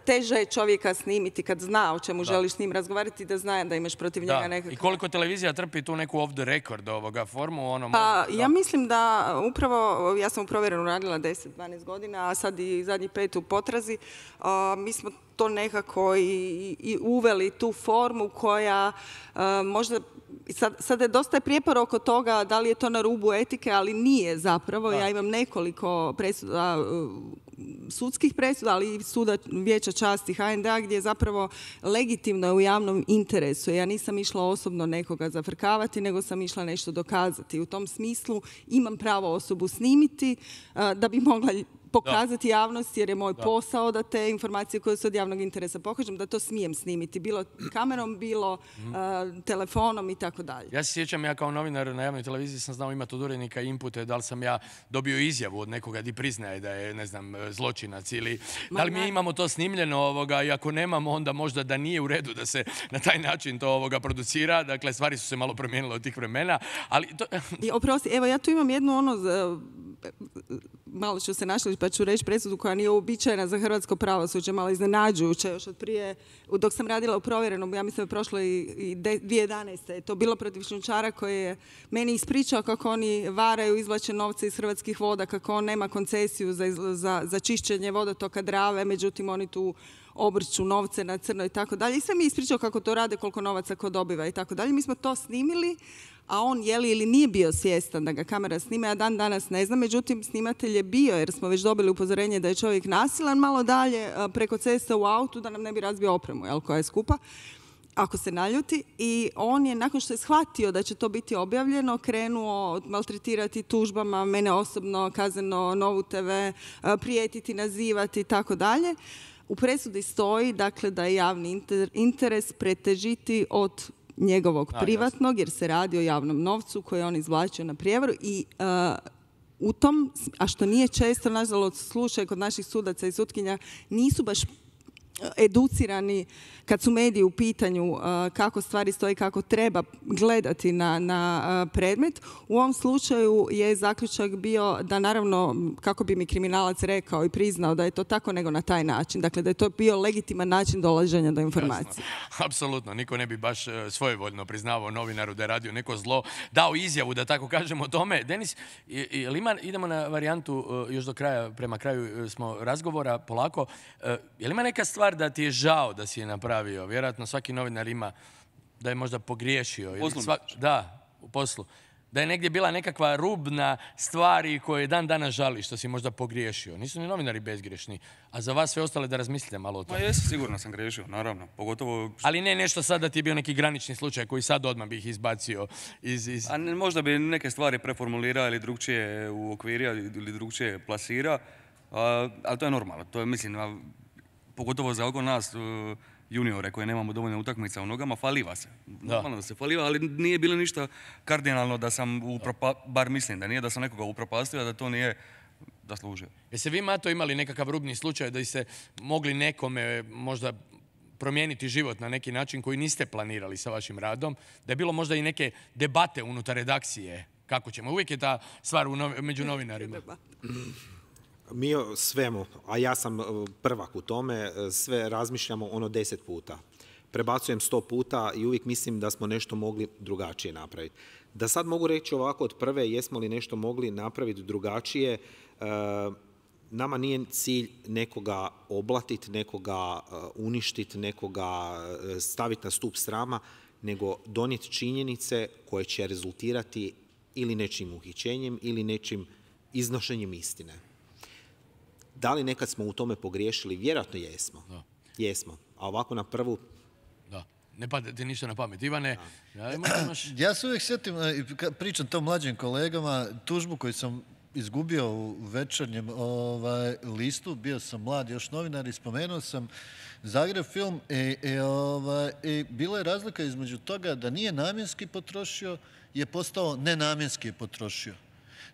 Teže je čovjeka snimiti kad zna o čemu da. želiš s njim razgovarati, da zna da imaš protiv njega nekakav... I koliko televizija trpi tu neku off the record ovoga formu? Ono, pa, možda, ja mislim da upravo, ja sam u Provjerenu radila deset dvanaest godina, a sad i zadnji pet u Potrazi, a, mi smo to nekako i, i uveli tu formu koja a, možda... Sad, sad je dosta prijepor oko toga da li je to na rubu etike, ali nije zapravo. Da. Ja imam nekoliko presuda, sudskih presuda, ali i suda Vijeća časti ha en de a gdje je zapravo legitimno u javnom interesu. Ja nisam išla osobno nekoga zafrkavati, nego sam išla nešto dokazati. U tom smislu imam pravo osobu snimiti da bi mogla pokazati da. javnosti, jer je moj da. posao da te informacije koje su od javnog interesa pokažem, da to smijem snimiti. Bilo kamerom, bilo mm. uh, telefonom i tako dalje. Ja se sjećam, ja kao novinar na javnoj televiziji sam znao imati od urednika inpute, da li sam ja dobio izjavu od nekoga di priznaje da je, ne znam, zločinac ili Ma, da li mi ne. imamo to snimljeno ovoga, i ako nemamo, onda možda da nije u redu da se na taj način to ovoga producira. Dakle, stvari su se malo promijenile od tih vremena, ali... To... I, oprosti, evo, ja tu imam jednu ono... malo ću se našli pa ću reći presudu koja nije uobičajena za hrvatsko pravosuđe, malo iznenađujuće još od prije, dok sam radila u Provjerenom, ja mislim da je prošlo i, i dvije tisuće jedanaeste. To bilo protiv šljunčara koji je meni ispričao kako oni varaju, izvlače novce iz Hrvatskih voda, kako on nema koncesiju za, za, za čišćenje vodotoka Drave, međutim oni tu obrću novce na crno i tako dalje. I sve mi je ispričao kako to rade, koliko novaca ko dobiva i tako dalje. Mi smo to snimili, a on je li ili nije bio svjestan da ga kamera snima, ja dan danas ne znam, međutim snimatelj je bio jer smo već dobili upozorenje da je čovjek nasilan malo dalje preko ceste u autu da nam ne bi razbio opremu, jel, koja je skupa, ako se naljuti. I on je, nakon što je shvatio da će to biti objavljeno, krenuo maltretirati tužbama, mene osobno, kazneno, Novu te ve, prijetiti, nazivati i tako dalje. U presudi stoji, dakle, da je javni interes pretežiti od njegovog privatnog, jer se radi o javnom novcu koji on izvlačio na prijevaru i uh, u tom, a što nije često, nažalost, slučaj kod naših sudaca i sutkinja, nisu baš educirani kad su mediji u pitanju uh, kako stvari stoji, kako treba gledati na, na uh, predmet. U ovom slučaju je zaključak bio da naravno, kako bi mi kriminalac rekao i priznao da je to tako, nego na taj način. Dakle, da je to bio legitiman način dolaženja do informacije. Jasno. Apsolutno. Niko ne bi baš svojevoljno priznavao novinaru da je radio neko zlo, dao izjavu, da tako kažemo, o tome. Denis, je li ima, idemo na varijantu još do kraja, prema kraju smo razgovora, polako. Je li ima neka stvar da ti je žao da si je napravio? Vjerojatno svaki novinar ima da je možda pogriješio. U poslu? Sva... Da, u poslu. da je negdje bila nekakva rubna stvari koje dan danas žali što si možda pogriješio. Nisu ni novinari bezgrešni, a za vas sve ostale da razmislite malo o tome. Ma jesu, sigurno sam griješio, naravno. Pogotovo... Ali ne nešto sad da ti je bio neki granični slučaj koji sad odmah bih izbacio iz... iz... A ne, možda bi neke stvari preformulirao ili drugčije uokvirio ili drugčije plasirao, ali to je normalno. To je, mislim, a, pogotovo za oko nas, uh, juniore koji nemamo dovoljno utakmica u nogama, faliva se. Normalno da se faliva, ali nije bilo ništa kardinalno da sam, upropa, bar mislim da nije, da sam nekoga upropastio, da to nije zaslužio. Jeste vi, Mato, imali nekakav rubni slučaj da ste mogli nekome možda promijeniti život na neki način koji niste planirali sa vašim radom, da je bilo možda i neke debate unutar redakcije? Kako ćemo? Uvijek je ta stvar u novi, među novinarima. Mi o svemu, a ja sam prvak u tome, sve razmišljamo ono deset puta. Prebacujem sto puta i uvijek mislim da smo nešto mogli drugačije napraviti. Da sad mogu reći ovako od prve, jesmo li nešto mogli napraviti drugačije, nama nije cilj nekoga oblatiti, nekoga uništiti, nekoga staviti na stup srama, nego donijeti činjenice koje će rezultirati ili nečim uhićenjem ili nečim iznošenjem istine. Da li nekad smo u tome pogriješili? Vjerojatno jesmo. Da. Jesmo. A ovako na prvu... Da. Ne pada ti ništa na pamet. Ivane, ja, imaš... ja se uvijek sjetim, pričam to mlađim kolegama, tužbu koju sam izgubio u večernjem ovaj, listu, bio sam mlad još novinar i spomenuo sam Zagreb film i, i, ovaj, i bila je razlika između toga da nije namjenski potrošio, je postao nenamjenski je potrošio.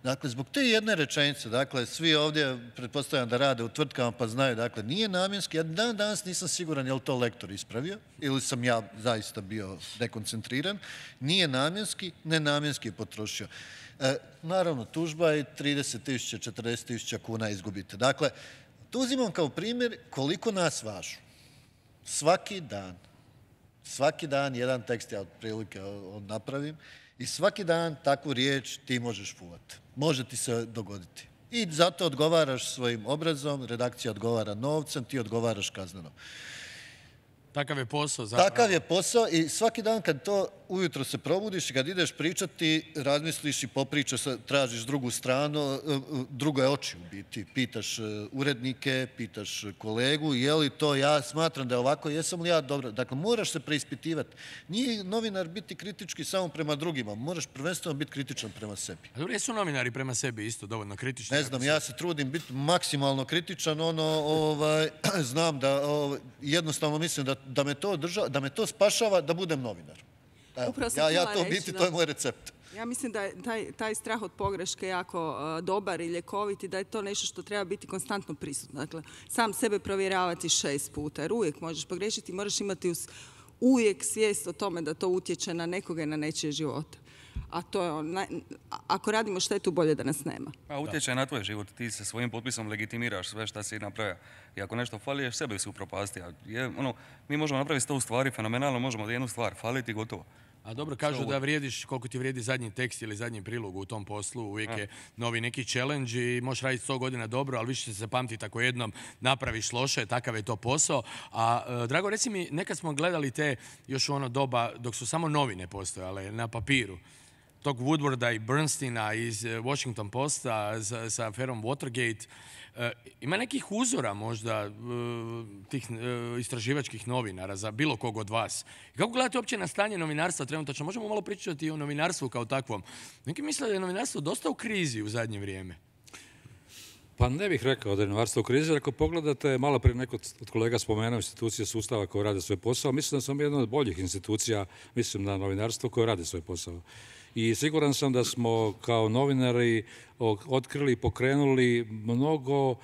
Dakle, zbog te jedne rečenice, dakle, svi ovdje pretpostavljam da rade u tvrtkama pa znaju, dakle, nije namjenski, ja dan danas nisam siguran je li to lektor ispravio ili sam ja zaista bio dekoncentriran, nije namjenski, nenamjenski je potrošio. E, naravno, tužba je trideset tisuća, četrdeset tisuća kuna izgubite. Dakle, tu uzimam kao primjer koliko nas važu. Svaki dan, svaki dan jedan tekst ja otprilike napravim, i svaki dan takvu riječ ti možeš fulati. Može ti se dogoditi. I zato odgovaraš svojim obrazom, redakcija odgovara novcem, ti odgovaraš kazneno. Takav je posao. Zapravo. Takav je posao i svaki dan kad to ujutro se probudiš i kad ideš pričati, razmisliš i popričaš, tražiš drugu stranu, druge oči u biti. Pitaš urednike, pitaš kolegu, je li to ja smatram da je ovako, jesam li ja dobro. Dakle, moraš se preispitivati. Nije novinar biti kritički samo prema drugima, moraš prvenstveno biti kritičan prema sebi. A dobro, jesu novinari prema sebi isto dovoljno kritični? Ne znam, ja se trudim biti maksimalno kritičan, ono, ovaj, znam da ovaj, jednostavno mislim da Da me, to održava, da me to spašava da budem novinar. Evo, ja, ja to biti, to je moj recept. Ja mislim da je taj, taj strah od pogreške jako uh, dobar i ljekovit i da je to nešto što treba biti konstantno prisutno. Dakle, sam sebe provjeravati šest puta, jer uvijek možeš pogrešiti i moraš imati us, uvijek svijest o tome da to utječe na nekoga i na nečije živote. A to je on, ako radimo štetu, bolje da nas nema. A utječe na tvoj život, ti se svojim potpisom legitimiraš sve što si napravio. I ako nešto fali, sebe si upropasti. Ono, mi možemo napraviti sto stvari fenomenalno, možemo da jednu stvar faliti i gotovo. A dobro, kažu da vrijediš koliko ti vrijedi zadnji tekst ili zadnji prilog u tom poslu, uvijek je novi neki challenge i možeš raditi sto godina dobro, ali više će se pamtiti ako jednom napraviš loše, takav je to posao. A Drago, reci mi, nekad smo gledali te još u ono doba dok su samo novine postojale na papiru, tog Woodwarda i Bernsteina iz Washington Posta sa, sa aferom Watergate. E, ima nekih uzora možda e, tih e, istraživačkih novinara za bilo kog od vas? I kako gledate uopće na stanje novinarstva trenutačno? Možemo malo pričati i o novinarstvu kao takvom. Neki misle da je novinarstvo dosta u krizi u zadnje vrijeme. Pa ne bih rekao da je novinarstvo u krizi, ako pogledate, malo prije neko od kolega spomenuo institucije sustava koje rade svoj posao, mislim da sam jedna od boljih institucija, mislim na novinarstvo koje rade svoj posao. I siguran sam da smo kao novinari otkrili i pokrenuli mnogo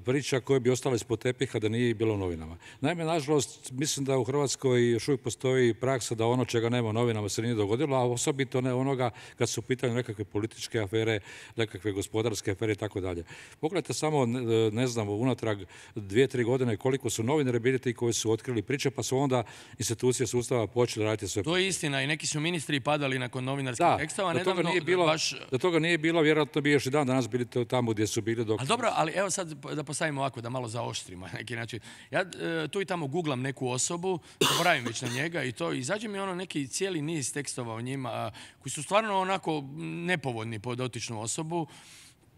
priča koje bi ostale ispod tepiha da nije bilo u novinama. Naime, nažalost, mislim da u Hrvatskoj još uvijek postoji praksa da ono čega nema u novinama se nije dogodilo, a osobito ne onoga kad su u pitanju nekakve političke afere, nekakve gospodarske afere i tako dalje. Pogledajte samo, ne znam, unatrag dvije, tri godine koliko su novinari bili ti koji su otkrili priče, pa su onda institucije sustava počeli raditi sve. To je istina i neki su ministri padali nakon novinarskih tekstova. Da, da toga nije bilo, vjerojatno bi još i dan danas bili tamo gdje su bili dok... Ali dobro, ali evo, evo sad da postavimo ovako, da malo zaoštrimo na neki način. Ja e, tu i tamo googlam neku osobu, zaboravim već na njega i to, izađe mi ono neki cijeli niz tekstova o njima, a, koji su stvarno onako nepovoljni po dotičnu osobu.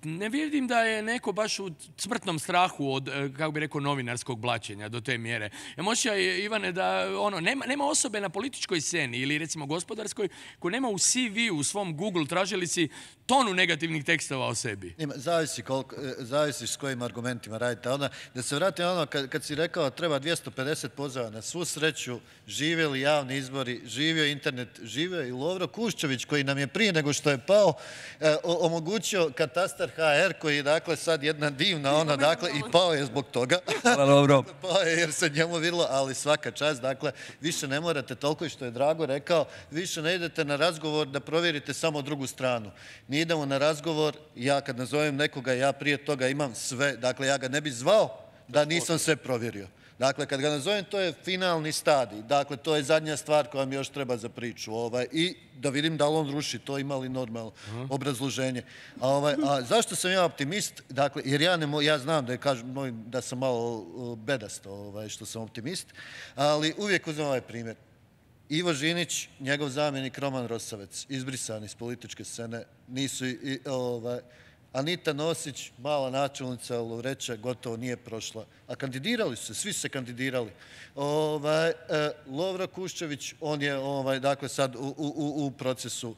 Ne vidim da je neko baš u smrtnom strahu od, kako bi rekao, novinarskog blaćenja do te mjere. Emocija je, Ivane, da ono, nema, nema osobe na političkoj sceni ili recimo gospodarskoj koja nema u C V u svom Google tražilici tonu negativnih tekstova o sebi. Ima, zavisi, koliko, zavisi s kojim argumentima radite. Ona, da se vratim ono, kad, kad si rekao treba dvjesto pedeset pozvala, na svu sreću živjeli javni izbori, živio internet, živio i Lovro Kuščević koji nam je prije nego što je pao eh, omogućio katastar H R koji je dakle sad jedna divna ona, dakle, i pao je zbog toga. Hvala, dobro. Pao je jer se njemu vidjelo, ali svaka čast, dakle, više ne morate toliko i što je Drago rekao, više ne idete na razgovor da provjerite samo drugu stranu. Mi idemo na razgovor, ja kad nazovem nekoga, ja prije toga imam sve, dakle, ja ga ne bi zvao da nisam sve provjerio. Dakle, kad ga nazovem, to je finalni stadij. Dakle, to je zadnja stvar koja mi još treba za priču. Ovaj, I da vidim da li on ruši to, ima li normalno uh-huh. obrazloženje. A, ovaj, a zašto sam ja optimist? Dakle, jer ja, ne mo, ja znam da, je, kažem, da sam malo bedast ovaj, što sam optimist, ali uvijek uzmem ovaj primjer. Ivo Žinić, njegov zamjenik Roman Rosavec, izbrisani iz političke scene, nisu i, ovaj, Anita Nosić, mala načelnica Lovreća, gotovo nije prošla. A kandidirali su se, svi su se kandidirali. Ovaj, e, Lovro Kuščević, on je ovaj, dakle, sad u, u, u procesu.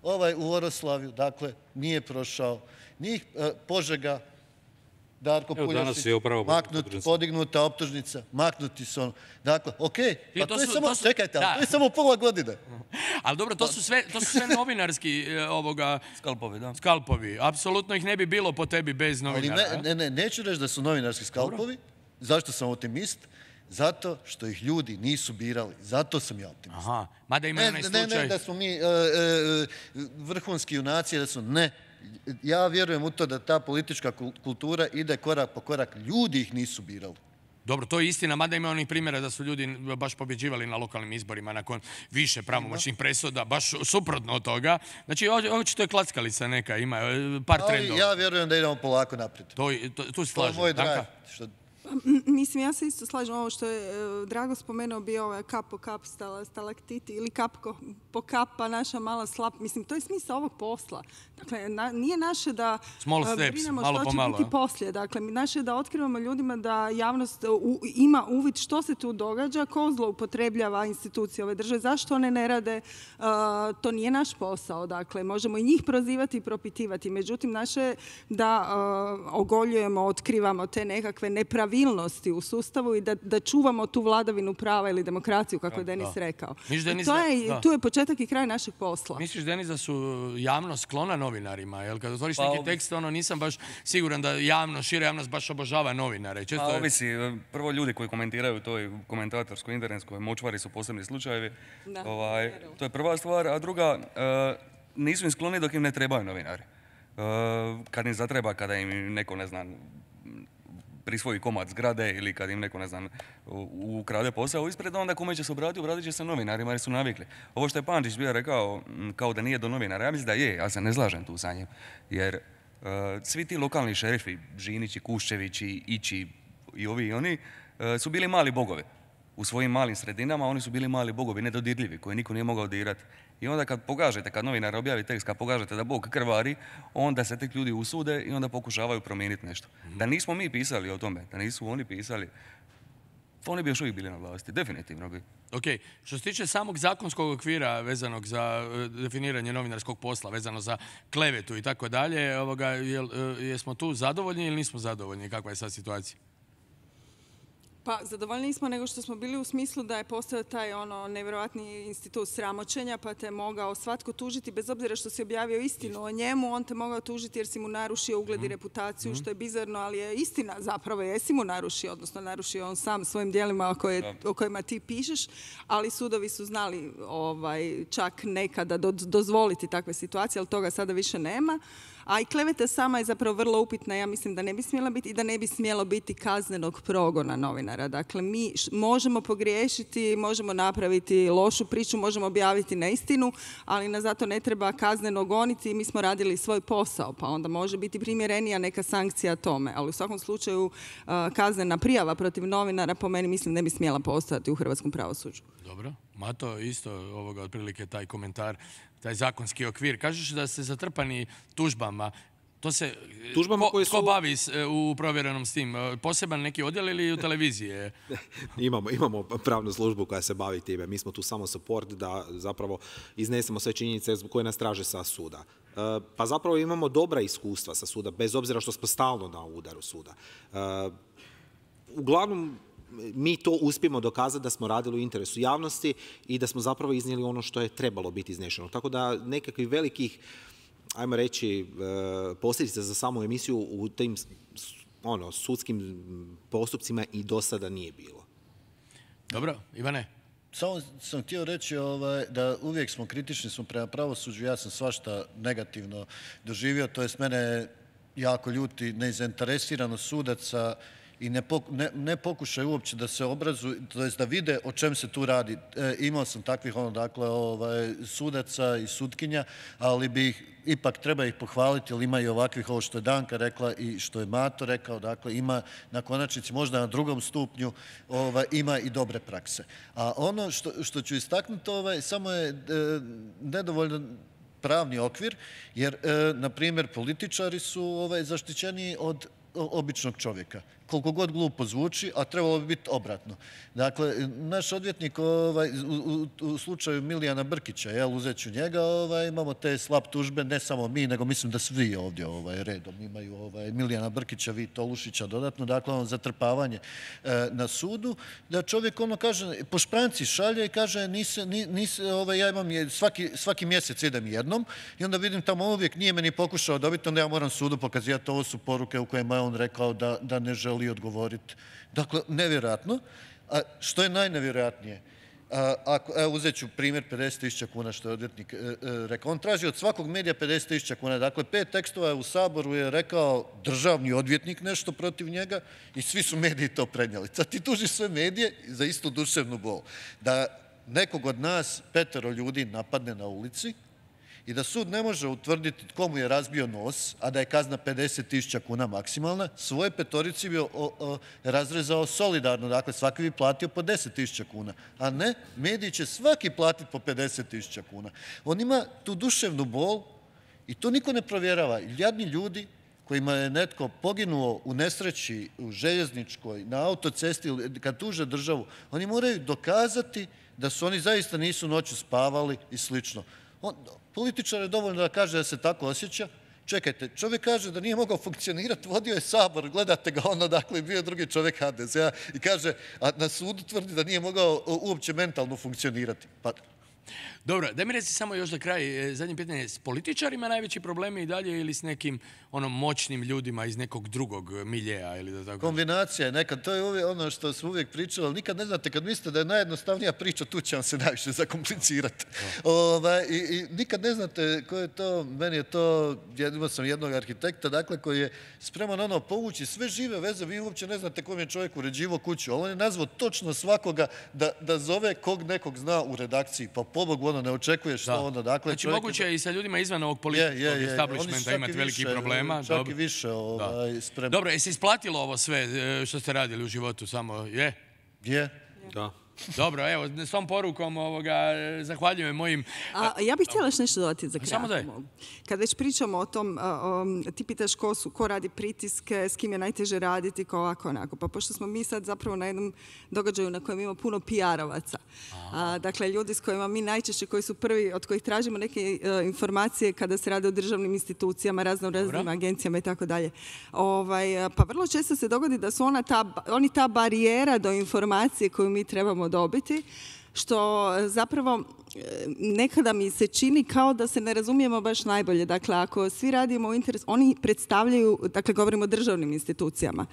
Ovaj u Oroslavju, dakle, nije prošao. Njih e, Požega, Darko Puljasić, maknut, podignuta optužnica, maknuti su ono. Dakle, okej, okay, pa to, to je su, samo, to su, čekajte, ali to je samo pola godine. Ali dobro, to su sve, to su sve novinarski ovoga... Skalpovi, da. Skalpovi. Apsolutno ih ne bi bilo po tebi bez novinara. Ali ne, ne, ne, neću reći da su novinarski skalpovi. Dobro. Zašto sam optimist? Zato što ih ljudi nisu birali. Zato sam ja optimist. Aha, mada ima onaj slučaj... Ne, ne, da smo mi uh, uh, vrhunski junaci, da su ne... Ja vjerujem u to da ta politička kultura ide korak po korak. Ljudi ih nisu birali. Dobro, to je istina, mada ima onih primjera da su ljudi baš pobjeđivali na lokalnim izborima nakon više pravomoćnih presuda, baš suprotno od toga. Znači, očito je klackalica neka, ima par trendova. Ali ja vjerujem da idemo polako naprijed. To, to, tu se slažem. To je moj drive. Što... Mislim, ja se isto slažem ovo što je Drago spomenuo, bio ovaj kap po kap stalaktiti ili kap po kap pa naša mala slap. Mislim, to je smisao ovog posla. Dakle, na, nije naše da brinemo što će biti poslije. Dakle, naše je da otkrivamo ljudima da javnost u, ima uvid što se tu događa, ko zloupotrebljava institucije ove države, zašto one ne rade. Uh, to nije naš posao. Dakle, možemo i njih prozivati i propitivati. Međutim, naše je da uh, ogoljujemo, otkrivamo te nekakve nepravilnosti u sustavu i da, da čuvamo tu vladavinu prava ili demokraciju, kako je Denis rekao. Denis, to je, da. Tu je početak i kraj našeg posla. Misliš, Denis, da su javno sklona novinarima? Jel, kad otvoriš pa, neki tekst, ono, nisam baš siguran da javno, šira javnost baš obožava novinare. Često pa, ovisi. Prvo, ljudi koji komentiraju to i komentatorskoj, internetskoj močvari su posebni slučajevi. Da. Ovaj, to je prva stvar. A druga, uh, nisu im skloni dok im ne trebaju novinari. Uh, kad im zatreba, kada im neko, ne znam, prisvoji komad zgrade ili kad im neko, ne znam, ukrade posao ispred, onda kome će se obratiti, obratit će se novinarima jer su navikli. Ovo što je Pančić bio rekao, kao da nije do novinara, ja mislim da je, ja se ne slažem tu sa njim. Jer uh, svi ti lokalni šerifi, Žinići, Kuščevići, Ići i ovi i oni, uh, su bili mali bogovi. U svojim malim sredinama oni su bili mali bogovi, nedodirljivi, koje niko nije mogao dirati. I onda kad pogažete, kad novinar objavi tekst, kad pogažete da Bog krvari, onda se tek ljudi usude i onda pokušavaju promijeniti nešto. Mm-hmm. Da nismo mi pisali o tome, da nisu oni pisali, oni bi još uvijek bili na vlasti, definitivno bi. Ok, što se tiče samog zakonskog okvira vezanog za definiranje novinarskog posla, vezano za klevetu i tako dalje, jesmo tu zadovoljni ili nismo zadovoljni? Kakva je sad situacija? Pa, zadovoljni smo nego što smo bili u smislu da je postao taj ono nevjerojatni institut sramoćenja, pa te mogao svatko tužiti, bez obzira što si objavio istinu o njemu, on te mogao tužiti jer si mu narušio ugled i reputaciju, što je bizarno, ali je istina zapravo, jesi mu narušio, odnosno narušio on sam svojim dijelima o, koje, o kojima ti pišeš, ali sudovi su znali ovaj, čak nekada do, dozvoliti takve situacije, ali toga sada više nema. A i kleveta sama je zapravo vrlo upitna, ja mislim da ne bi smjela biti i da ne bi smjelo biti kaznenog progona novinara. Dakle, mi možemo pogriješiti, možemo napraviti lošu priču, možemo objaviti neistinu, ali nas zato ne treba kazneno goniti i mi smo radili svoj posao, pa onda može biti primjerenija neka sankcija tome. Ali u svakom slučaju kaznena prijava protiv novinara po meni mislim ne bi smjela postojati u hrvatskom pravosuđu. Dobro. Mato, isto ovoga, otprilike taj komentar, taj zakonski okvir. Kažeš da ste zatrpani tužbama. To se, Tužbama ko, koje su... ko bavi u provjerenom s tim? Poseban neki odjel ili u televiziji? imamo, imamo pravnu službu koja se bavi time. Mi smo tu samo support da zapravo iznesemo sve činjenice koje nas traže sa suda. Pa zapravo imamo dobra iskustva sa suda, bez obzira što smo stalno na udaru suda. Uglavnom, mi to uspijemo dokazati da smo radili u interesu javnosti i da smo zapravo iznijeli ono što je trebalo biti iznešeno. Tako da nekakvih velikih, ajmo reći, posljedica za samu emisiju u tim ono, sudskim postupcima i do sada nije bilo. Dobro, Ivane? Samo sam htio reći ovaj, da uvijek smo kritični smo prema pravosuđu, ja sam svašta negativno doživio, to jest mene jako ljuti nezainteresiranost sudaca i ne, poku, ne, ne pokušaju uopće da se obrazuju, to jest da vide o čem se tu radi. E, imao sam takvih ono, dakle, ovaj, sudaca i sutkinja, ali bi ih, ipak treba ih pohvaliti, jer ima i ovakvih, ovo što je Danka rekla i što je Mato rekao, dakle ima na konačnici možda na drugom stupnju ovaj, ima i dobre prakse. A ono što, što ću istaknuti, ovaj, samo je e, nedovoljno pravni okvir, jer, e, na primjer, političari su ovaj, zaštićeni od običnog čovjeka. Koliko god glupo zvuči, a trebalo bi biti obratno. Dakle, naš odvjetnik ovaj, u, u, u slučaju Milijana Brkića, jel, uzet ću njega, ovaj, imamo te slab tužbe, ne samo mi, nego mislim da svi ovdje ovaj, redom imaju ovaj, Milijana Brkića, vi Tolušića dodatno, dakle, ono zatrpavanje e, na sudu, da čovjek ono kaže, po špranci šalje i kaže, nise, nise, ovaj, ja imam je, svaki, svaki mjesec idem jednom i onda vidim tamo uvijek nije meni pokušao dobiti, onda ja moram sudu pokazivati, ovo su poruke u kojima je on rekao da, da ne želi odgovoriti. Dakle, nevjerojatno. A što je najnevjerojatnije? A, ako, evo, uzet ću primjer pedeset tisuća kuna što je odvjetnik e, e, rekao. On traži od svakog medija pedeset tisuća kuna. Dakle, pet tekstova je u Saboru je rekao državni odvjetnik nešto protiv njega i svi su mediji to prenijeli. Sad ti tužiš sve medije za istu duševnu bol. Da nekog od nas petero ljudi napadne na ulici i da sud ne može utvrditi tko mu je razbio nos, a da je kazna pedeset tisuća kuna maksimalna, svoje petorici bi o, o, razrezao solidarno, dakle svaki bi platio po deset tisuća kuna, a ne, mediji će svaki platiti po pedeset tisuća kuna. On ima tu duševnu bol i to niko ne provjerava. Jadni ljudi kojima je netko poginuo u nesreći, u željezničkoj, na autocesti, kad tuže državu, oni moraju dokazati da su oni zaista nisu noću spavali i slično. On, političar je dovoljno da kaže da se tako osjeća. Čekajte, čovjek kaže da nije mogao funkcionirati, vodio je Sabor, gledate ga ono, dakle, bio je drugi čovjek ha de ze a i kaže, a na sudu tvrdi da nije mogao uopće mentalno funkcionirati. Pa... Dobro, daj mi reci samo još za kraj, zadnje pitanje, s političarima najveći problemi i dalje ili s nekim ono, moćnim ljudima iz nekog drugog miljeja? Ili da tako... Kombinacija je nekad, to je uvijek ono što smo uvijek pričali, ali nikad ne znate, kad mislite da je najjednostavnija priča, tu će vam se najviše zakomplicirati. Ovaj, i, I nikad ne znate ko je to, meni je to, imao sam jednog arhitekta, dakle, koji je spreman ono povući sve žive veze, vi uopće ne znate kom je čovjek uređivo kuću, ali on je nazvao točno svakoga da, da zove kog nekog zna u redakciji, pa pobogu ono ne očekuješ što onda. Dakle, znači moguće je i sa ljudima izvan ovog političkog establishmenta imati velikih problema. Čak i više ovaj, spremno. Dobro, jesi isplatilo ovo sve što ste radili u životu? Samo je? Je. Da. Dobro, evo, s tom porukom ovoga, zahvaljujem mojim... A, ja bih htjela još nešto dodati za kraj. Samo daj. Kad već pričamo o tom, a, o, ti pitaš ko, su, ko radi pritiske, s kim je najteže raditi, ko ovako onako. Pa pošto smo mi sad zapravo na jednom događaju na kojem ima puno P R-ovaca. Dakle, ljudi s kojima mi najčešće, koji su prvi, od kojih tražimo neke uh, informacije kada se rade o državnim institucijama, razno raznim agencijama i tako dalje. Ovaj, pa vrlo često se dogodi da su ona ta, oni ta barijera do informacije koju mi trebamo dobiti, što zapravo nekada mi se čini kao da se ne razumijemo baš najbolje. Dakle, ako svi radimo u interes, oni predstavljaju, dakle, govorimo o državnim institucijama,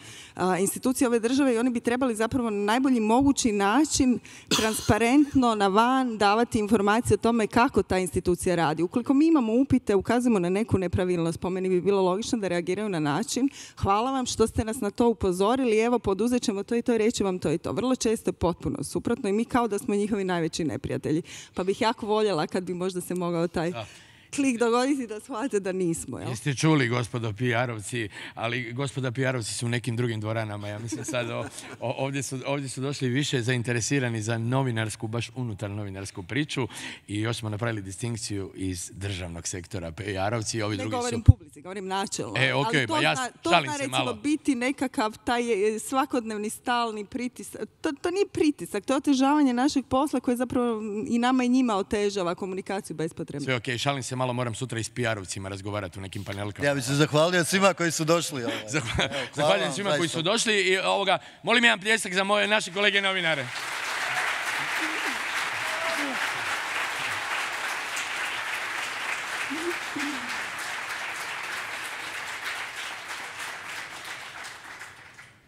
institucije ove države i oni bi trebali zapravo na najbolji mogući način transparentno na van davati informacije o tome kako ta institucija radi. Ukoliko mi imamo upite, ukazujemo na neku nepravilnost, po meni bi bilo logično da reagiraju na način hvala vam što ste nas na to upozorili, evo poduzet ćemo to i to i reći vam to i to. Vrlo često je potpuno suprotno i mi kao da smo njihovi najveći neprijatelji. Pa bih jako voljela kad bi možda se mogao taj da. klik dogoditi da shvate da nismo. Jel? Jeste čuli, gospodo P R-ovci, ali gospoda P R-ovci su u nekim drugim dvoranama. Ja mislim sad o, o, ovdje, su, ovdje su došli više zainteresirani za novinarsku, baš unutar novinarsku priču i još smo napravili distinkciju iz državnog sektora P R-ovci. Ovi ne drugi govorim su... publici, govorim načelno. E, ok, ali to pa ja zna, to šalim zna, se recimo, malo. biti nekakav taj svakodnevni stalni pritisak. To, to nije pritisak, to je otežavanje našeg posla koje zapravo i nama i njima otežava komunikaciju bespotrebno. Sve ok, šalim se malo, moram sutra i s P R-ovcima razgovarati u nekim panelkama. Ja bih se zahvalio svima koji su došli. Ovaj. Zahval, zahvaljujem svima koji su došli i ovoga, molim jedan pljesak za moje naše kolege novinare.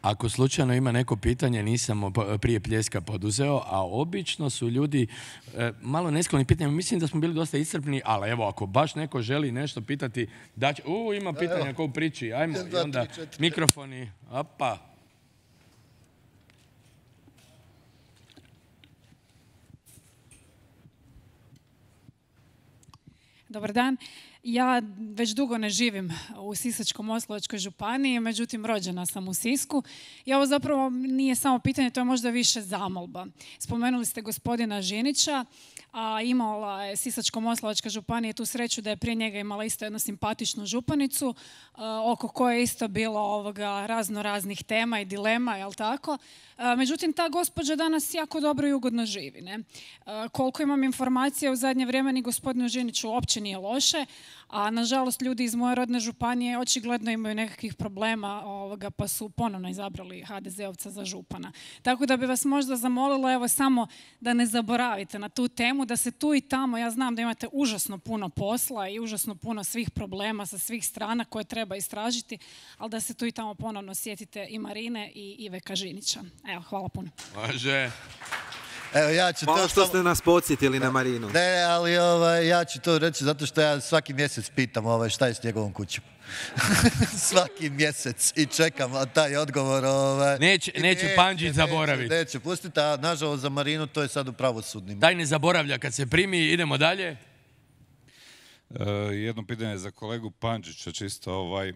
Ako slučajno ima neko pitanje, nisam prije pljeska poduzeo, a obično su ljudi e, malo neskloni pitanjima. Mislim da smo bili dosta iscrpni, ali evo, ako baš neko želi nešto pitati, da će... U, ima pitanja ko u priči, ajmo, i onda mikrofoni, opa. Dobar dan. Ja već dugo ne živim u Sisačko-moslavačkoj županiji, međutim rođena sam u Sisku. I ovo zapravo nije samo pitanje, to je možda više zamolba. Spomenuli ste gospodina Žinića, a imala je Sisačko-moslavačka županija tu sreću da je prije njega imala isto jednu simpatičnu županicu, oko koje je isto bilo ovoga razno raznih tema i dilema, jel tako? Međutim, ta gospođa danas jako dobro i ugodno živi. Ne? Koliko imam informacija, u zadnje vrijeme ni gospodinu Žiniću uopće nije loše, a nažalost ljudi iz moje rodne županije očigledno imaju nekakvih problema ovoga, pa su ponovno izabrali ha de zeovca za župana. Tako da bi vas možda zamolila evo samo da ne zaboravite na tu temu, da se tu i tamo, ja znam da imate užasno puno posla i užasno puno svih problema sa svih strana koje treba istražiti, ali da se tu i tamo ponovno sjetite i Marine i Iveka Žinića. Evo, hvala puno. Može. Evo, ja ću Hvala to što sam... ste nas podsjetili na Marinu. Ne, ali ovaj, ja ću to reći zato što ja svaki mjesec pitam ovaj, šta je s njegovom kućom. Svaki mjesec i čekam taj odgovor. Ovaj. Neće, neće Pandžić zaboraviti. Neće, neće pustiti, a nažalost za Marinu to je sad u pravosudnim. Daj ne zaboravlja kad se primi, idemo dalje. E, jedno pitanje za kolegu Pandžića, čisto ovaj,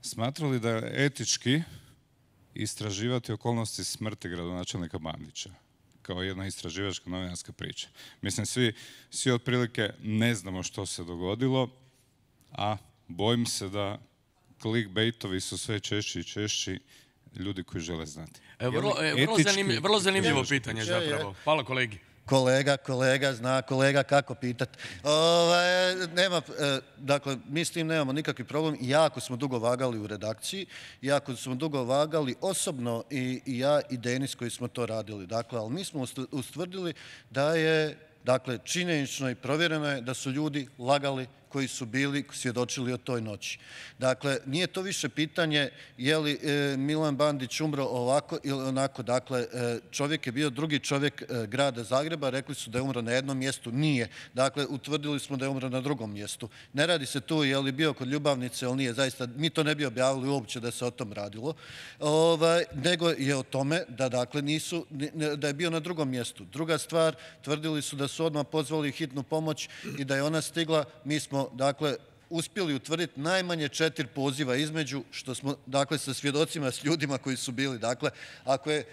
smatrali da je etički istraživati okolnosti smrti gradonačelnika Bandića kao jedna istraživačka novinarska priča. Mislim, svi, svi otprilike ne znamo što se dogodilo, a bojim se da clickbaitovi su sve češći i češći ljudi koji žele znati. E, vrlo, e, vrlo, zanimljivo, vrlo zanimljivo pitanje zapravo. Hvala kolegi. Kolega, kolega, zna kolega kako pitati. Ove, nema, e, dakle, mi s tim nemamo nikakvi problem. Jako smo dugo vagali u redakciji, jako smo dugo vagali osobno i, i ja i Denis koji smo to radili. Dakle, ali mi smo ustvrdili da je, dakle, činjenično i provjereno je da su ljudi lagali koji su bili svjedočili o toj noći. Dakle, nije to više pitanje je li e, Milan Bandić umro ovako ili onako. Dakle, e, čovjek je bio drugi čovjek e, grada Zagreba, rekli su da je umro na jednom mjestu, nije. Dakle, utvrdili smo da je umro na drugom mjestu. Ne radi se tu je li bio kod ljubavnice ili nije, zaista, mi to ne bi objavili uopće da se o tom radilo, ovaj, nego je o tome da, dakle, nisu, da je bio na drugom mjestu. Druga stvar, tvrdili su da su odmah pozvali hitnu pomoć i da je ona stigla, mi smo dakle, uspjeli utvrditi najmanje četiri poziva između, što smo, dakle, sa svjedocima, s ljudima koji su bili. Dakle, ako je,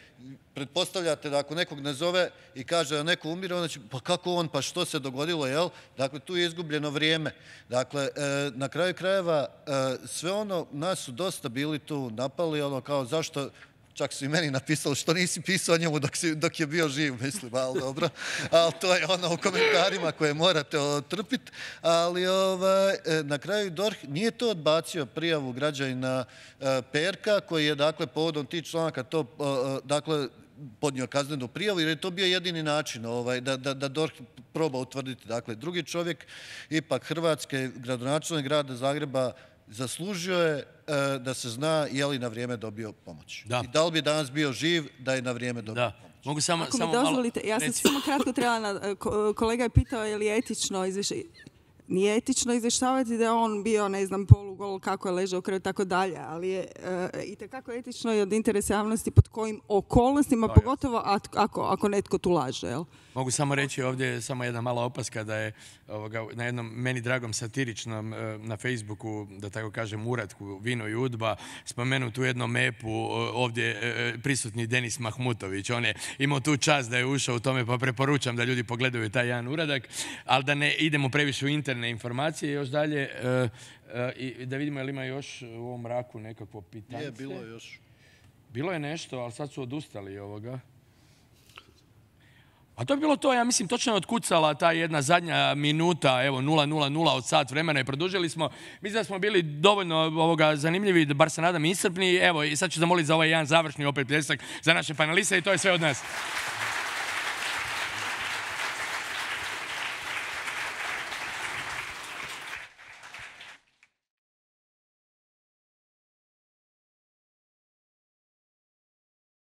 pretpostavljate da ako nekog ne zove i kaže da neko umire, onda će, pa kako on, pa što se dogodilo, jel? Dakle, tu je izgubljeno vrijeme. Dakle, e, na kraju krajeva, e, sve ono, nas su dosta bili tu napali, ono kao, zašto, čak su i meni napisali što nisi pisao o njemu dok, si, dok je bio živ, mislim, ali dobro. Ali to je ono u komentarima koje morate otrpiti. Ali ovaj, na kraju D O R H nije to odbacio prijavu građanina Perka, koji je, dakle, povodom tih članaka to, dakle, podnio kaznenu prijavu, jer je to bio jedini način ovaj, da, da, da D O R H proba utvrditi. Dakle, drugi čovjek, ipak Hrvatske, gradonačelnik grada Zagreba, zaslužio je e, da se zna je li na vrijeme dobio pomoć. Da. I da li bi danas bio živ da je na vrijeme dobio da. pomoć. Mogu samo, Ako samo mi dozvolite, malo... ja sam samo kratko trebala, na, kolega je pitao je li etično izvješće. Nije etično izvještavati da je on bio, ne znam, polugol, kako je ležao u krevetu, tako dalje, ali je e, itekako etično i od interesa javnosti pod kojim okolnostima, pogotovo ako, ako netko tu laže, jel? Mogu samo reći ovdje samo jedna mala opaska da je ovoga, na jednom meni dragom satiričnom na Facebooku, da tako kažem, uratku Vino i Udba, spomenut u jednom mepu ovdje prisutni Denis Mahmutović. On je imao tu čast da je ušao u tome, pa preporučam da ljudi pogledaju taj jedan uradak, ali da ne idemo previše u interne informacije. Još dalje, i da vidimo je li ima još u ovom mraku nekakvo pitanje. Je, bilo je još. Bilo je nešto, ali sad su odustali ovoga. A to je bilo to, ja mislim, točno je otkucala ta jedna zadnja minuta, evo, nula nula nula od sat vremena i produžili smo. Mislim da smo bili dovoljno ovoga zanimljivi, da bar se nadam iscrpni. Evo, i sad ću zamoliti za ovaj jedan završni opet pljesak za naše paneliste i to je sve od nas.